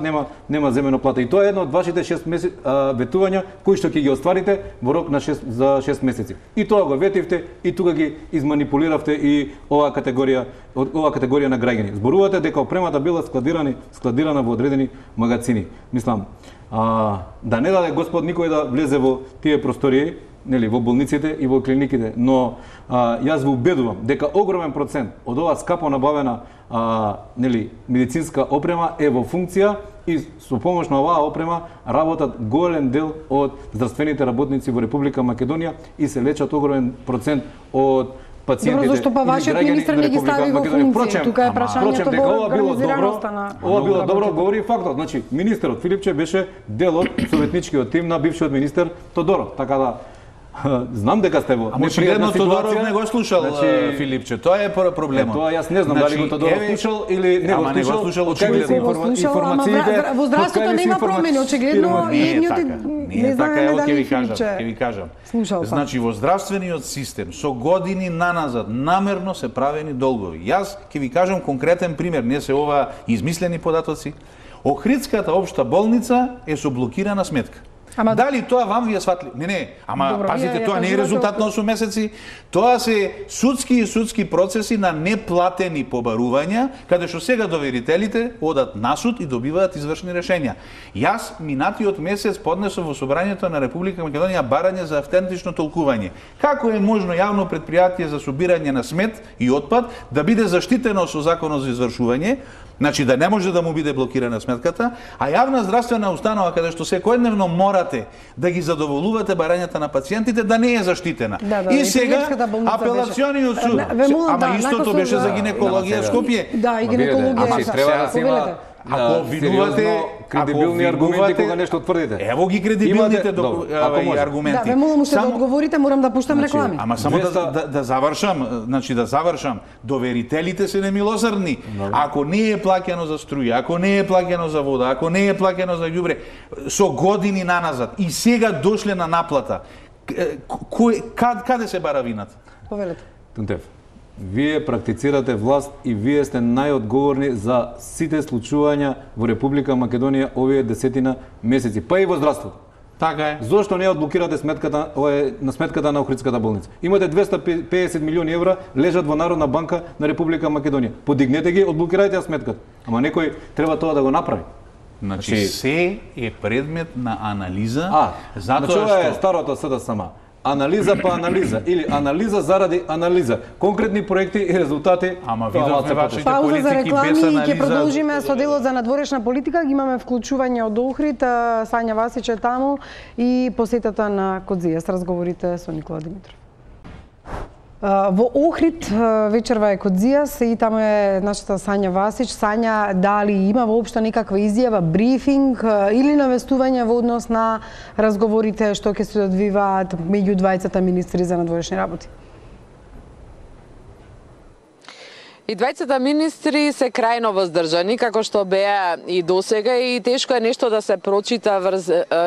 нема земено плата. И тоа е едно од вашите 6 месеци ветувања кои што ќе ги остварите во рок на 6 месеци. И тоа го ветивте и тука ги изманипулиравте и оваа категорија на граѓани. Зборувате дека опремата била складирана во одредени магазини. Мислам, да не даде Господ никој да влезе во тие простории, нели, во болниците и во клиниките, но јас ви убедувам дека огромен процент од оваа скапо набавена нели, медицинска опрема е во функција и со помош на оваа опрема работат голем дел од здравствените работници во Република Македонија и се лечат огромен процент од пациентите. Добро, зашто па вашиот министер не ги стави во функција? Тука е прашањето во организираноста на... Ова било добро, говори фактот. Значи, министерот Филипче беше дел од советничкиот тим на бившиот министер Тодоров. Така да, знам дека сте во непријатна ситуација. Тодоров не го слушал Филипче, тоа е проблемот. Тоа јас не знам дали го Тодоров слушал или не го слушал. Информациите во здравството нема промени, очигледно и едниот не така е, ќе ви кажам. Значи во здравствениот систем со години наназад намерно се правени долгови. Јас ќе ви кажам конкретен пример, не се ова измислени податоци. Охридската општа болница е со блокирана сметка. Дали тоа вам ви е сватли? Не, ама пазите, тоа не е резултат на 8 месеци. Тоа се судски процеси на неплатени побарувања, каде што сега доверителите одат на суд и добиваат извршни решенја. Јас минатиот месец поднесов во Собранието на Република Македонија барање за автентично толкување. Како е можно јавно претпријатие за собирање на смет и отпад да биде заштитено со законот за извршување, значи да не може да му биде блокирана сметката, а јавна здравствена установа каде што секојдневно мора морате да ги задоволувате барањата на пациентите да не е заштитена. И сега апелациониот суд, ама истото беше за гинекологија Скопје. Да, и гинекологија. Треба да се има ако обвинувате кредибилни аргументи кога нешто тврдите. Ево ги кредибилните аргументи. Да, ве молам уште да одговорите, морам да пуштам реклами. Ама само да завршам, доверителите се немилосрдни. Ако не е плаќано за струја, ако не е плаќано за вода, ако не е плаќано за ѓубре, со години наназад и сега дошле на наплата, каде се бара вината? Повелете. Тунтев, вие практицирате власт и вие сте најодговорни за сите случувања во Република Македонија овие 10 месеци, па и во здравството. Така е. Зошто не одблокирате сметката, на сметката на Охридската болница? Имате 250 милиони евра лежат во Народна банка на Република Македонија. Подигнете ги, одблокирајте сметката. Ама некој треба тоа да го направи. Значи се е предмет на анализа, затоа што ова е старото СДСМ. Анализа па анализа или анализа заради анализа. Конкретни проекти и резултати. Ама видовме вашите политики без анализа. Пауза за реклами и ќе продолжиме со делот за надворешна политика. Ги имаме вклучување од Охрид, Сања Васич е таму и посетата на Кодзија с разговорите со Никола Димитров. Во Охрид вечерва е Кодзијас и таму е нашата Сања Васич. Сања, дали има воопшто некаква изјава, брифинг или навестување во однос на разговорите што ќе се одвиваат меѓу двајцата министри за надворешни работи? И двајцата министри се крајно воздржани, како што беа и досега, и тешко е нешто да се прочита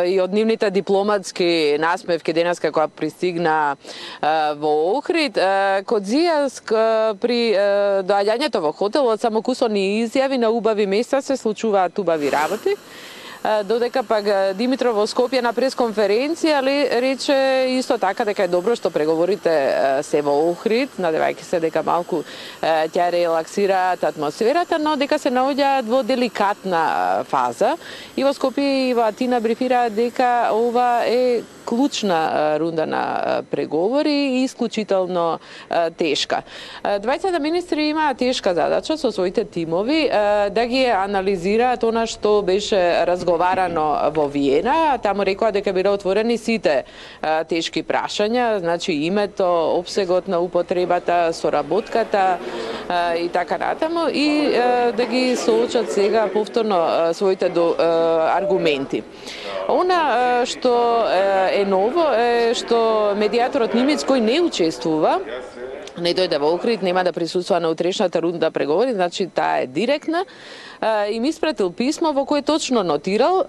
и од нивните дипломатски насмевки денеска кога пристигна во Охрид. Кодзија при доаѓањето во хотелот само кусони изјави на убави места се случуваат убави работи. Додека пак Димитров во Скопје на пресконференција рече исто така дека е добро што преговорите се во Охрид, надевајќи се дека малку ќе релаксираат атмосферата, но дека се наоѓаат во деликатна фаза. И во Скопје и во Атина брифираат дека ова е клучна рунда на преговори и исклучително тешка. Двајцата министри имаат тешка задача со своите тимови да ги анализираат она што беше разговарано во Виена. Таму рекоа дека биле отворени сите тешки прашања, значи името, опсегот на употребата, соработката и така натаму, и да ги соочат сега повторно своите аргументи. Она што е ново е што медијаторот Нимец, кој не учествува, не дојде во Охрид, нема да присуствува на утрешната рунда преговори, значи таа е директна, им испратил писмо во кое точно нотирал,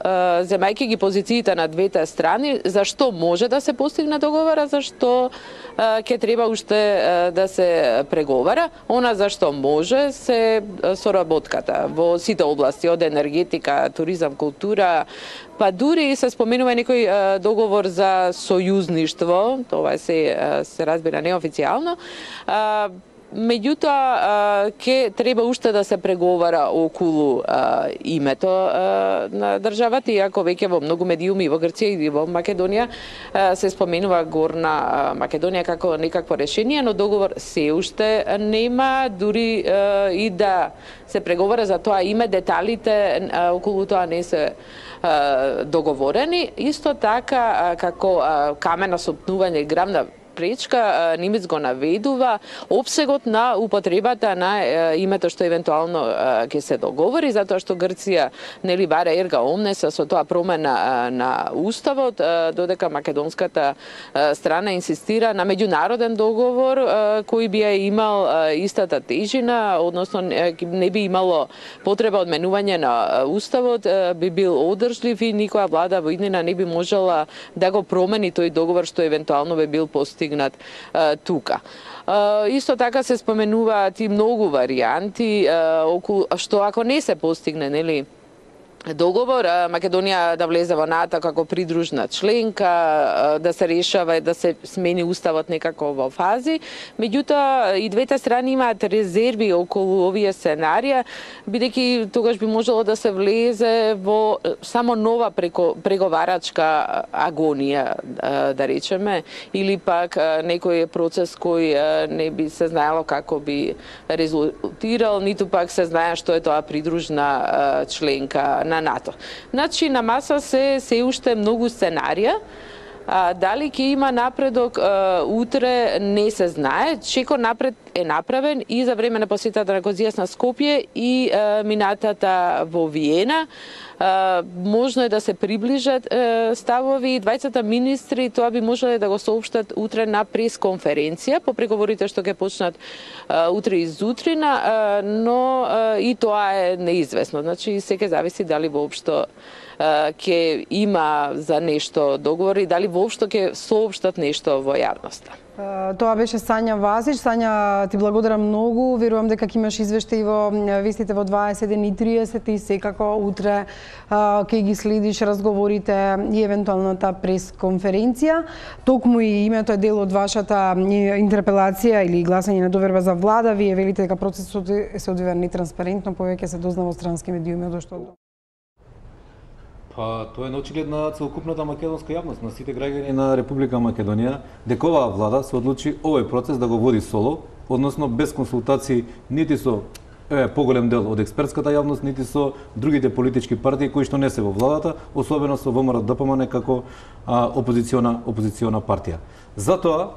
земајќи ги позициите на двете страни, зашто може да се постигне договора, зашто ќе треба уште да се преговара. Она зашто може се соработката во сите области, од енергетика, туризам, култура, па дури се споменува некој договор за сојузништво, тоа се разбира неофицијално. Меѓутоа, ќе треба уште да се преговара околу името на државата, иако веќе во многу медиуми во Грција и во Македонија се споменува Горна Македонија како некакво решение, но договор се уште нема, дури и да се преговара за тоа име, деталите околу тоа не се договорени. Исто така, како камена сопнување, грамна пречка, Нимец го наведува опсегот на употребата на името што евентуално ќе се договори, затоа што Грција нели бара ерга омнес со тоа промена на уставот, додека македонската страна инсистира на меѓународен договор кој би имал истата тежина, односно не би имало потреба од менување на уставот, би бил одржлив и никоја влада во иднина не би можела да го промени тој договор што евентуално би бил постигнат тука. Исто така се споменуваат и многу варијанти околу што ако не се постигне, нели, договор, Македонија да влезе во НАТО како придружна членка, да се решава и да се смени уставот некако во фази. Меѓутоа, и двете страни имаат резерви околу овие сценарија, бидејќи тогаш би можело да се влезе во само нова преговарачка агонија, да речеме, или пак некој процес кој не би се знаело како би резултирал, ниту пак се знае што е тоа придружна членка на НАТО. Значи на маса се уште многу сценарија. Дали ќе има напредок утре не се знае. Чеко напред е направен и за време на посетата на Козијас на Скопје и минатата во Виена. Можно е да се приближат ставови. Двајцата министри тоа би можеле да го соопштат утре на пресконференција по преговорите што ќе почнат утре изутрина, но и тоа е неизвестно. Значи се ќе зависи дали воопшто ќе има за нешто договори, дали воопшто ќе соопштат нешто во јавноста. Тоа беше Сања Васич. Сања, ти благодарам многу. Верувам дека ќе имаш извештаи во вестите во 21:30 и секако утре ќе ги следиш разговорите и евентуалната пресконференција. Токму и името е дел од вашата интерпелација или гласање на доверба за влада. Вие велите дека процесот се одвива нетранспарентно, повеќе се дознава од странски медиуми, од што Па, тоа е наочиглед на целокупната македонска јавност, на сите граѓани на Република Македонија, дека оваа влада се одлучи овој процес да го води соло, односно без консултации нити со поголем дел од експертската јавност, нити со другите политички партии кои што не се во владата, особено со ВМРО-ДПМН како опозициона партија. Затоа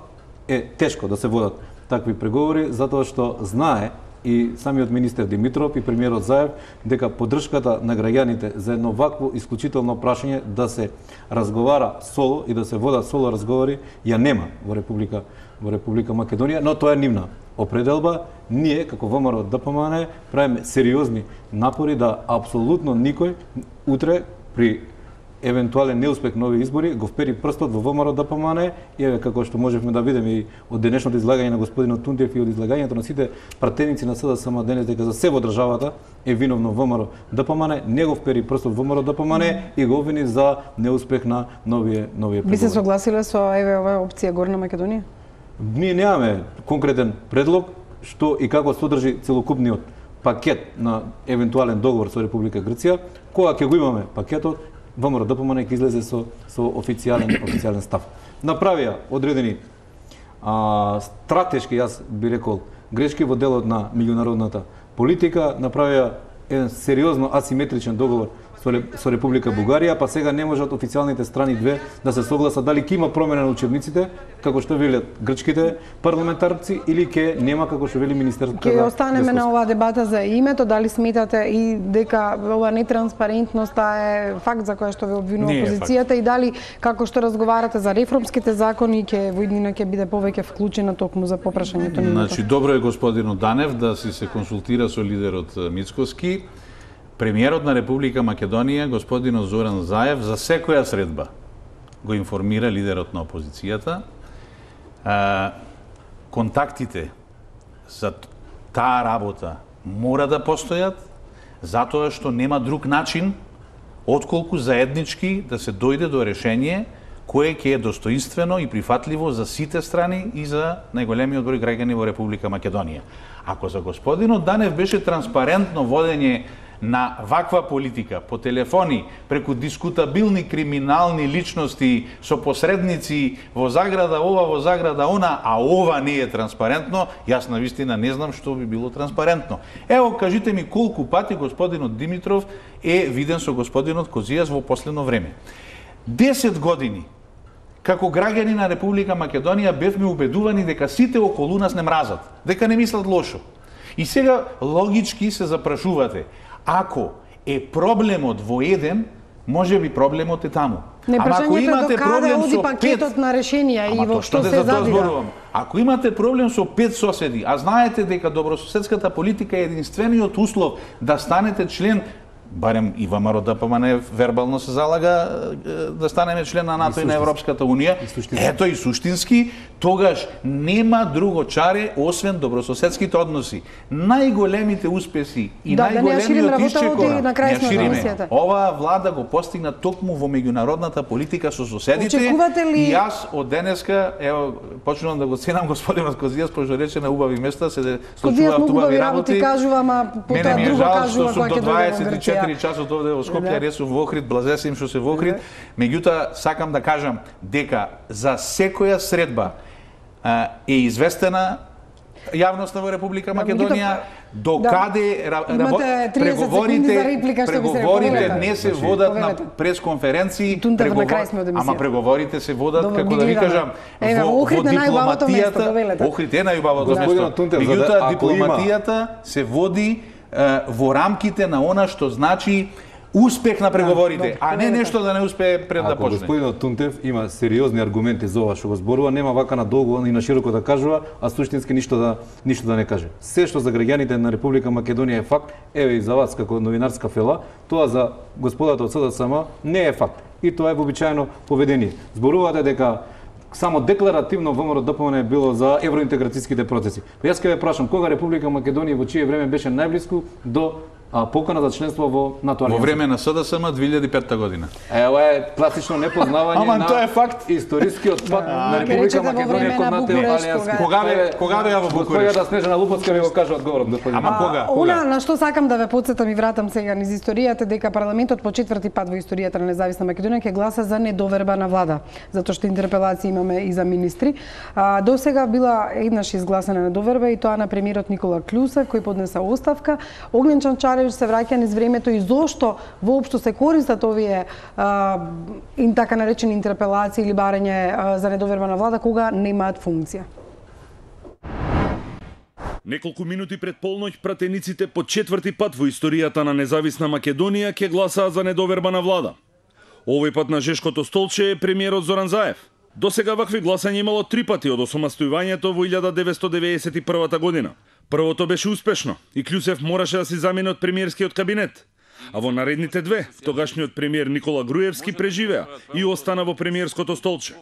е тешко да се водат такви преговори, затоа што знае и самиот министер Димитров и премиерот Заев дека поддршката на граѓаните за едно вакво исклучително прашање да се разговара соло и да се водат соло разговори ја нема во Република Македонија, но тоа е нивна определба. Ние како ВМРО-ДПМН правиме сериозни напори да апсолутно никој утре при евентуален неуспех на овие избори го впери прстот во ВМРО-ДПМН и еве како што можевме да видиме и од денешното излагање на господинот Тунтев и од излагањето на сите пратеници на СДСМ денес дека за се во државата е виновно ВМРО-ДПМН, не го впери прстот во ВМРО-ДПМН и го обвини за неуспех на новие преговори. Би се согласиле со оваа опција Горна Македонија? Ние немаме конкретен предлог што и како содржи целокупниот пакет на евентуален договор со Република Грција. Кога ќе го имаме пакетот, ВМРО-ДПМН ќе излезе со официјален став. Направија одредени стратешки, јас би рекол, грешки во делот на меѓународната политика, направија еден сериозно асиметричен договор со Република Бугарија, па сега не можат официјалните страни две да се согласат дали ќе има промена на учебниците, како што велат грчките парламентарци, или ќе нема, како што вели министерството. Ќе останеме на оваа дебата за името, дали сметате и дека ова нетранспарентност е факт за која што ве обвинува опозицијата и дали како што разговарате за реформските закони ќе во иднина ќе биде повеќе вклучена токму за попрашањето на името. Значи добро е господинот Данев да се консултира со лидерот Мицкоски. Премиерот на Република Македонија, господинот Зоран Заев, за секоја средба го информира лидерот на опозицијата. Контактите за таа работа мора да постојат, затоа што нема друг начин отколку заеднички да се дојде до решение кое ќе е достоинствено и прифатливо за сите страни и за најголемиот број граѓани во Република Македонија. Ако за господинот Данев беше транспарентно водење на ваква политика по телефони преку дискутабилни криминални личности со посредници во заграда ова, во заграда она, а ова не е транспарентно, јас навистина не знам што би било транспарентно. Ево, кажите ми колку пати господинот Димитров е виден со господинот Козијас во последно време. 10 години како граѓани на Република Македонија бевме убедувани дека сите околу нас не мразат, дека не мислат лошо. И сега логички се запрашувате, ако е проблемот во еден, може би проблемот е таму. Ама ако имате проблем со пакетот на решенија и во што се задира. Ако имате проблем со 5 соседи, а знаете дека добрососедската политика е единствениот услов да станете член, барем и ВМРО-ДПМН вербално се залага да станеме член на НАТО и на Европската Унија, ето и суштински, тогаш нема друго чаре освен добрососедските односи. Најголемите успеси и најголемиот исчекор на шириме. Оваа влада го постигна токму во меѓународната политика со соседите и јас од денеска, ево, почнувам да го ценам господинот Козијас, пошто рече на убави места, се случуваат убави работи. Мене ми е жал што сум до 24 часот овде во Скопје, ресов во Охрид, блазесим што се во Охрид. Меѓутоа, сакам да кажам дека за секоја средба е известена Јавноста во Република Македонија, докаде Имате 30 секунди за реплика, што би се преговорите не се водат на пресконференции, ама преговорите се водат, како да ви кажам, во дипломатијата, Охрид е најубавото место. Меѓутоа, дипломатијата се води во рамките на она што значи успех на преговорите, а не нешто да не успее пред да почне. Господинот Тунтев има сериозни аргументи за ова што го зборува, нема вака на долго и на широко да кажува, а суштински ништо да не каже. Се што за граѓаните на Република Македонија е факт, еве и за вас како новинарска фела, тоа за господата од СДСМ не е факт. И тоа е вообичаено поведение. Зборувате дека само декларативно ВМРО ДПМН е било за евроинтеграцијските процеси. Јас ќе ве прашам, кога Република Македонија во чие време беше најблиску до покана за членство во НАТО алијанса? Во време на СДСМ 2005 година. Ова е класично непознавање на тоа е факт. Историскиот пат на Република Македонија кон НАТО алијанска. Кога беа во Букурешт? Господјата Снежана Лупоцка ви го кажа одговорот, господин. Ама кога? Она на што сакам да ве потсетам и вратам сега низ историјата, дека парламентот по четврти пат во историјата на независна Македонија ќе гласа за недоверба на влада, затоа што интерпелации имаме и за министри. До сега била еднаш изгласана недоверба и тоа на премиерот Никола Клюсев, кој поднеса оставка. Огнен Чанчаревич се враќа низ времето и зошто воопшто се користат овие така наречени интерпелации или барање за недоверба на влада кога немаат функција. Неколку минути пред полноќ пратениците по четврти пат во историјата на независна Македонија ќе гласаат за недоверба на влада. Овој пат на жешкото столче е премиерот Зоран Заев. До сега вакви гласања имало 3 пати од осамостојувањето во 1991 година. Првото беше успешно и Клюсев мораше да си замени од премиерскиот кабинет. А во наредните две, тогашниот премиер Никола Груевски преживеа и остана во премиерското столче.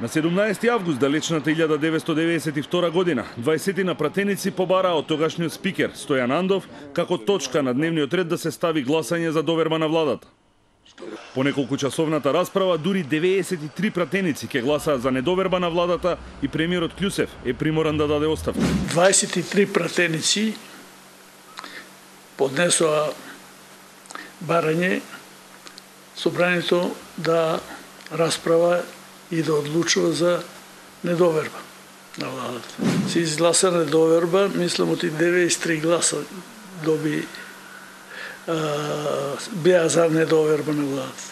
На 17 август далечната 1992 година, 20 пратеници побараа од тогашниот спикер Стојан Андов како точка на дневниот ред да се стави гласање за доверба на владата. По неколку часовната расправа, дури 93 пратеници ќе гласаат за недоверба на владата и премиерот Клюсев е приморан да даде оставка. 23 пратеници поднесоа барање собранието да расправа и да одлучува за недоверба на владата. Се изгласа недоверба, мислам оти 93 гласа доби беа за недоверба на владата.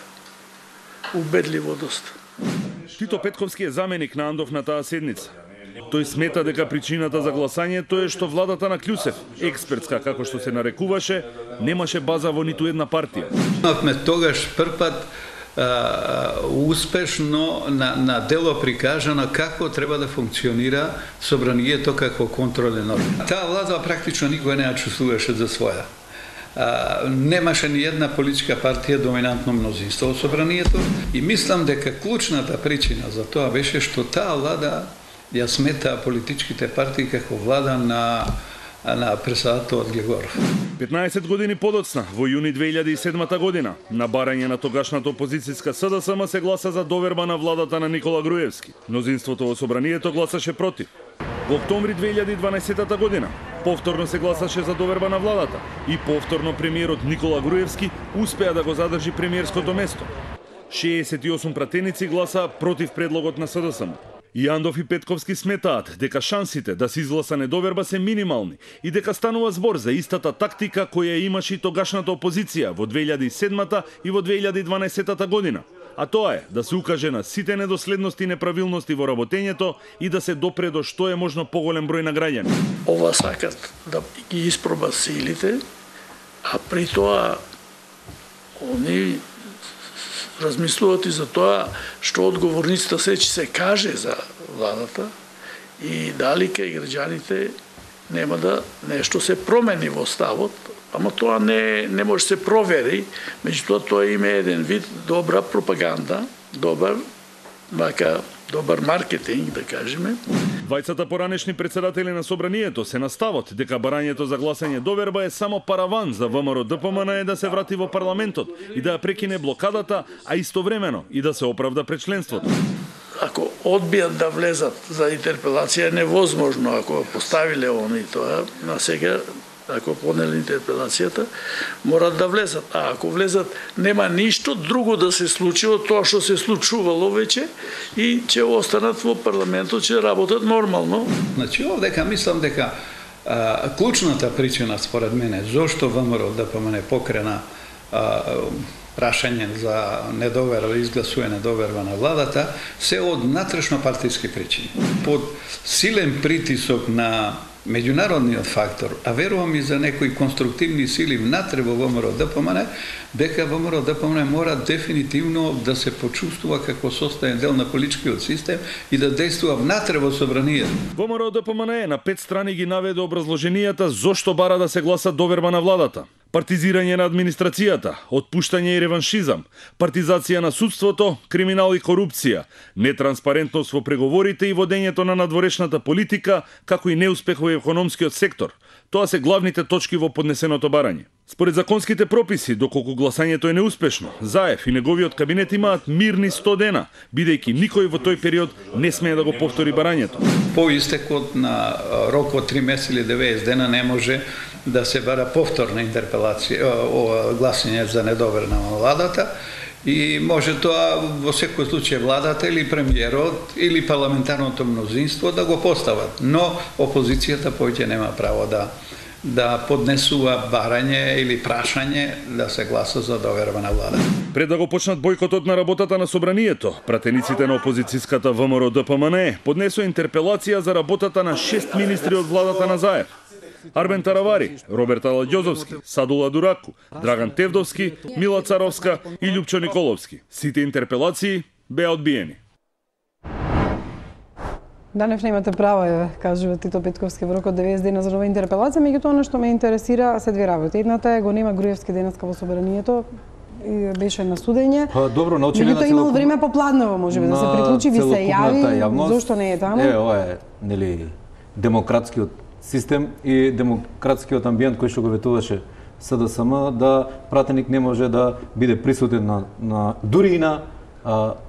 Убедливо доста. Тито Петковски е заменик на Андов на таа седница. Тој смета дека причината за гласањето е што владата на Клюсев, експертска како што се нарекуваше, немаше база во ниту една партија. Имавме тогаш првпат успешно на дело прикажано како треба да функционира собранието како контролен орган. Таа влада практично никој не ја чувствуваше за своја. Немаше ни една политичка партија доминантно мнозинство во собранието и мислам дека клучната причина за тоа беше што таа влада ја смета политичките партии како влада на председателот Глегоров. 15 години подоцна, во јуни 2007 година, на барање на тогашната опозицијска СДСМ се гласа за доверба на владата на Никола Груевски. Мнозинството во собранието гласаше против. Во октомври 2012 година повторно се гласаше за доверба на владата и повторно премиерот Никола Груевски успеа да го задржи премиерското место. 68 пратеници гласаа против предлогот на СДСМ. И Андов и Петковски сметаат дека шансите да се изгласа недоверба се минимални и дека станува збор за истата тактика која имаше и тогашната опозиција во 2007 и во 2012 година. А тоа е да се укаже на сите недоследности и неправилности во работењето и да се допре до што е можно поголем број на граѓани. Ова сакат да ги испробат силите, а при тоа они размислуват и за тоа што одговорницата се каже за владата и дали кај граѓаните нема да нешто се промени во ставот, ама тоа не може се провери, меѓутоа тоа има еден вид добра пропаганда, добар маркетинг, да кажеме. Двајцата поранешни председатели на собранието се на ставот дека барањето за гласање доверба е само параван за ВМРО ДПМН да се врати во парламентот и да ја прекине блокадата, а истовремено и да се оправда пред членството. Ако одбијат да влезат за интерпелација, е невозможно ако поставиле они тоа, на сега ако поднели интерпелацијата, морат да влезат. А ако влезат, нема ништо друго да се случи од тоа што се случувало веќе и ќе останат во парламентот, ќе работат нормално. Значи, овдека мислам дека клучната причина според мене зошто ВМРО ДПМН покрена прашање за недоверба, изгласување недоверба на владата, се од натрешно партиски причини. Под силен притисок на меѓународниот фактор, а верувам и за некои конструктивни сили внатре во ВМРО ДПМН, дека ВМРО ДПМН мора дефинитивно да се почувствува како состојен дел на политичкиот систем и да действува внатре во собранието. ВМРО ДПМН на 5 страни ги наведе образложенијата зошто бара да се гласа доверба на владата. Партизирање на администрацијата, отпуштање и реваншизам, партизација на судството, криминал и корупција, нетранспарентност во преговорите и водењето на надворешната политика, како и неуспех во економскиот сектор. Тоа се главните точки во поднесеното барање. Според законските прописи, доколку гласањето е неуспешно, Заев и неговиот кабинет имаат мирни 100 дена, бидејќи никој во тој период не смее да го повтори барањето. По истекот на рокот 3 месеци или 90 дена не може да се бара повторна интерпелација, гласање за недоверба на владата и може тоа во секој случај владата или премиерот или парламентарното мнозинство да го постават, но опозицијата повеќе нема право да поднесува барање или прашање да се гласа за доверба на владата. Пред да го почнат бојкотот на работата на собранието, пратениците на опозицијската ВМРО ДПМН поднесоа интерпелација за работата на 6 министри од владата на Заев. Арбен Таравари, Роберт Аладјозовски, Садула Дураку, Драган Тевдовски, Мила Царовска и Љупчо Николовски. Сите интерпелации беа одбиени. Данев немате право, кажува Тито Петковски, во рокот 90 дена за нова интерпелација, меѓутоа она што ме интересира се две работи. Едната е го нема Груевски денеска во собранието, и беше на судење. Добро, научили на имал време попладново, можеби да се приклучи, ви се јави, зошто не е таму? Ова е, нели, демократскиот систем и демократскиот амбиент кој што го ветуваше СДСМ, да пратеник не може да биде присутен на дури и на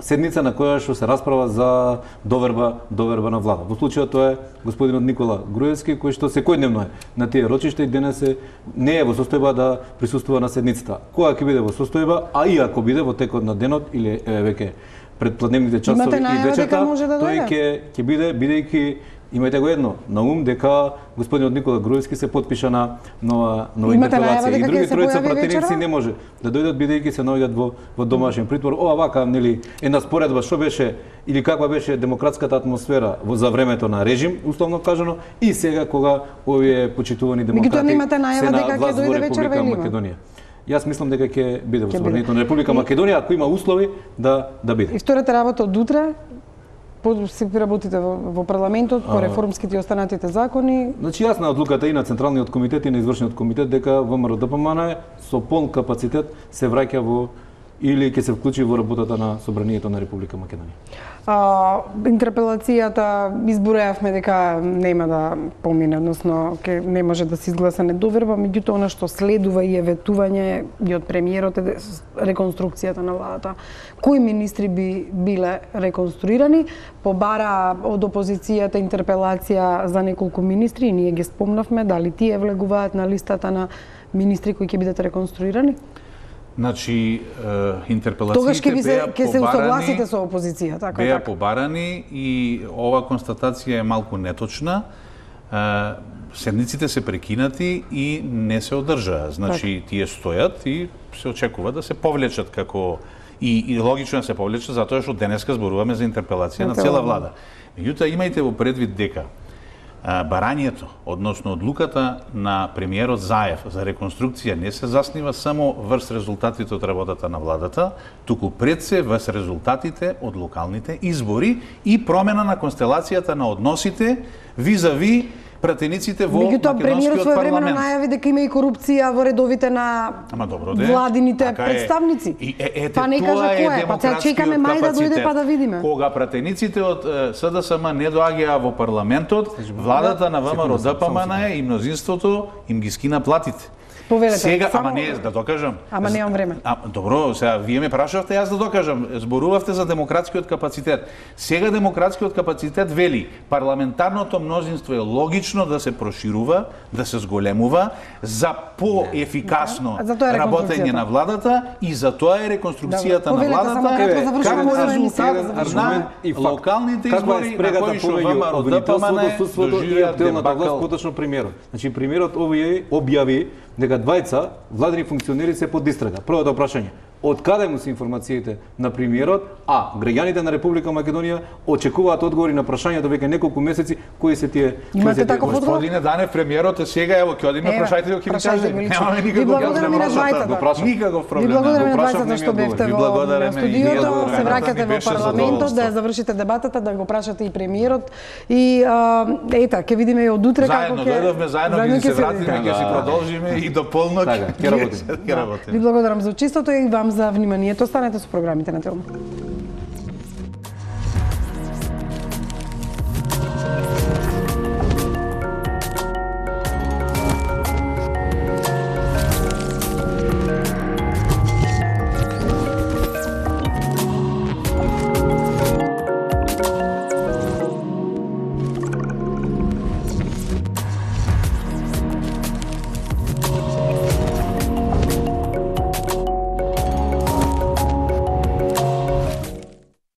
седница на која што се расправа за доверба на влада. Во случајот тоа е господинот Никола Груевски, кој што секојдневно е на тие рочишта и денес не е во состојба да присуствува на седницата. Кога ќе биде во состојба, а и ако биде во текот на денот или веќе пред пладневните часови и вечерта, тој ќе биде, бидејќи имајте го едно на ум дека господинот Никола Груевски се потпиша на нова интерпелација и други тројца пратеници не може да дојдат бидејќи се наоѓаат во домашен притвор. Ова вака, нели, една споредба што беше или каква беше демократската атмосфера за времето на режим, условно кажано, и сега кога овие почитувани демократи се на власт во Република Македонија. Јас мислам дека ќе биде во собранието на Република Македонија ако има услови да биде. И втората работа од утре си работите во парламентот по реформските и останатите закони. Значи јасна одлуката и на Централниот комитет и на Извршниот комитет дека ВМРО ДПМН со полн капацитет се враќа во или ќе се вклучи во работата на собранието на Република Македонија. Интерпелацијата избројавме дека нема да помине, односно не може да се изгласа недоверба, меѓутоа она што следува и е ветување и од премиерот е реконструкцијата на владата. Кои министри би биле реконструирани? Побара од опозицијата интерпелација за неколку министри и ние ги спомнавме, дали тие влегуваат на листата на министри кои ќе бидат реконструирани? Значи, интерпелациите ќе се усогласите со опозиција, така беа побарани и ова констатација е малку неточна. Седниците се прекинати и не се одржаа. Значи, тие стојат и се очекува да се повлечат како и логично да се повлечат затоа што денеска зборуваме за интерпелација на цела влада. Меѓутоа, имајте во предвид дека барањето, односно одлуката на премиерот Заев за реконструкција не се заснива само врз резултатите од работата на владата, туку пред се врз резултатите од локалните избори и промена на констелацијата на односите визави пратениците во македонскиот парламент. Премиерот своевремено најави дека има и корупција во редовите на владините представници. Па не кажа кој е, па сега чекаме мај да дојде па да видиме. Кога пратениците од СДСМ не доаѓаа во парламентот, владата на ВМРО ДПМН и мнозинството им ги скина платите. Повелете. Сега, Само... ама не, да докажам. Ама немам време. Добро, сега вие ме прашавте, јас да докажам. Зборувавте за демократскиот капацитет. Сега демократскиот капацитет вели, парламентарното мнозинство е логично да се проширува, да се зголемува за поефикасно работење на владата и за тоа е реконструкцијата на владата како резултат на локалните избори на кои што ВМРО ДПМН доживеа дебакал. Поточно премиерот. Значи премиерот објави дека двајца владени функционери се под истрага. Првото прашање, од каде му се информациите на премиерот, а граѓаните на Република Македонија очекуваат одговори на прашањето веќе неколку месеци, кои се тие... Имате таков одговор? Господине Данев, премиерот е сега, ево, ќе одиме, прашајте го, ќе ми кажете. Немаме никаков проблем. Никаков проблем. Ви благодарам на двајцата што бевте во студиото, се враќате во парламентот, да ја завршите дебатата, да го прашате и премиерот. И ета, ќе видиме и од утре како ќе... Заедно дојдовме, заедно ќе се вратиме, ќе си продолжиме и до полноќ ќе работиме. Ви благодарам за учеството и вам за вниманието. Останете со програмите на Телма.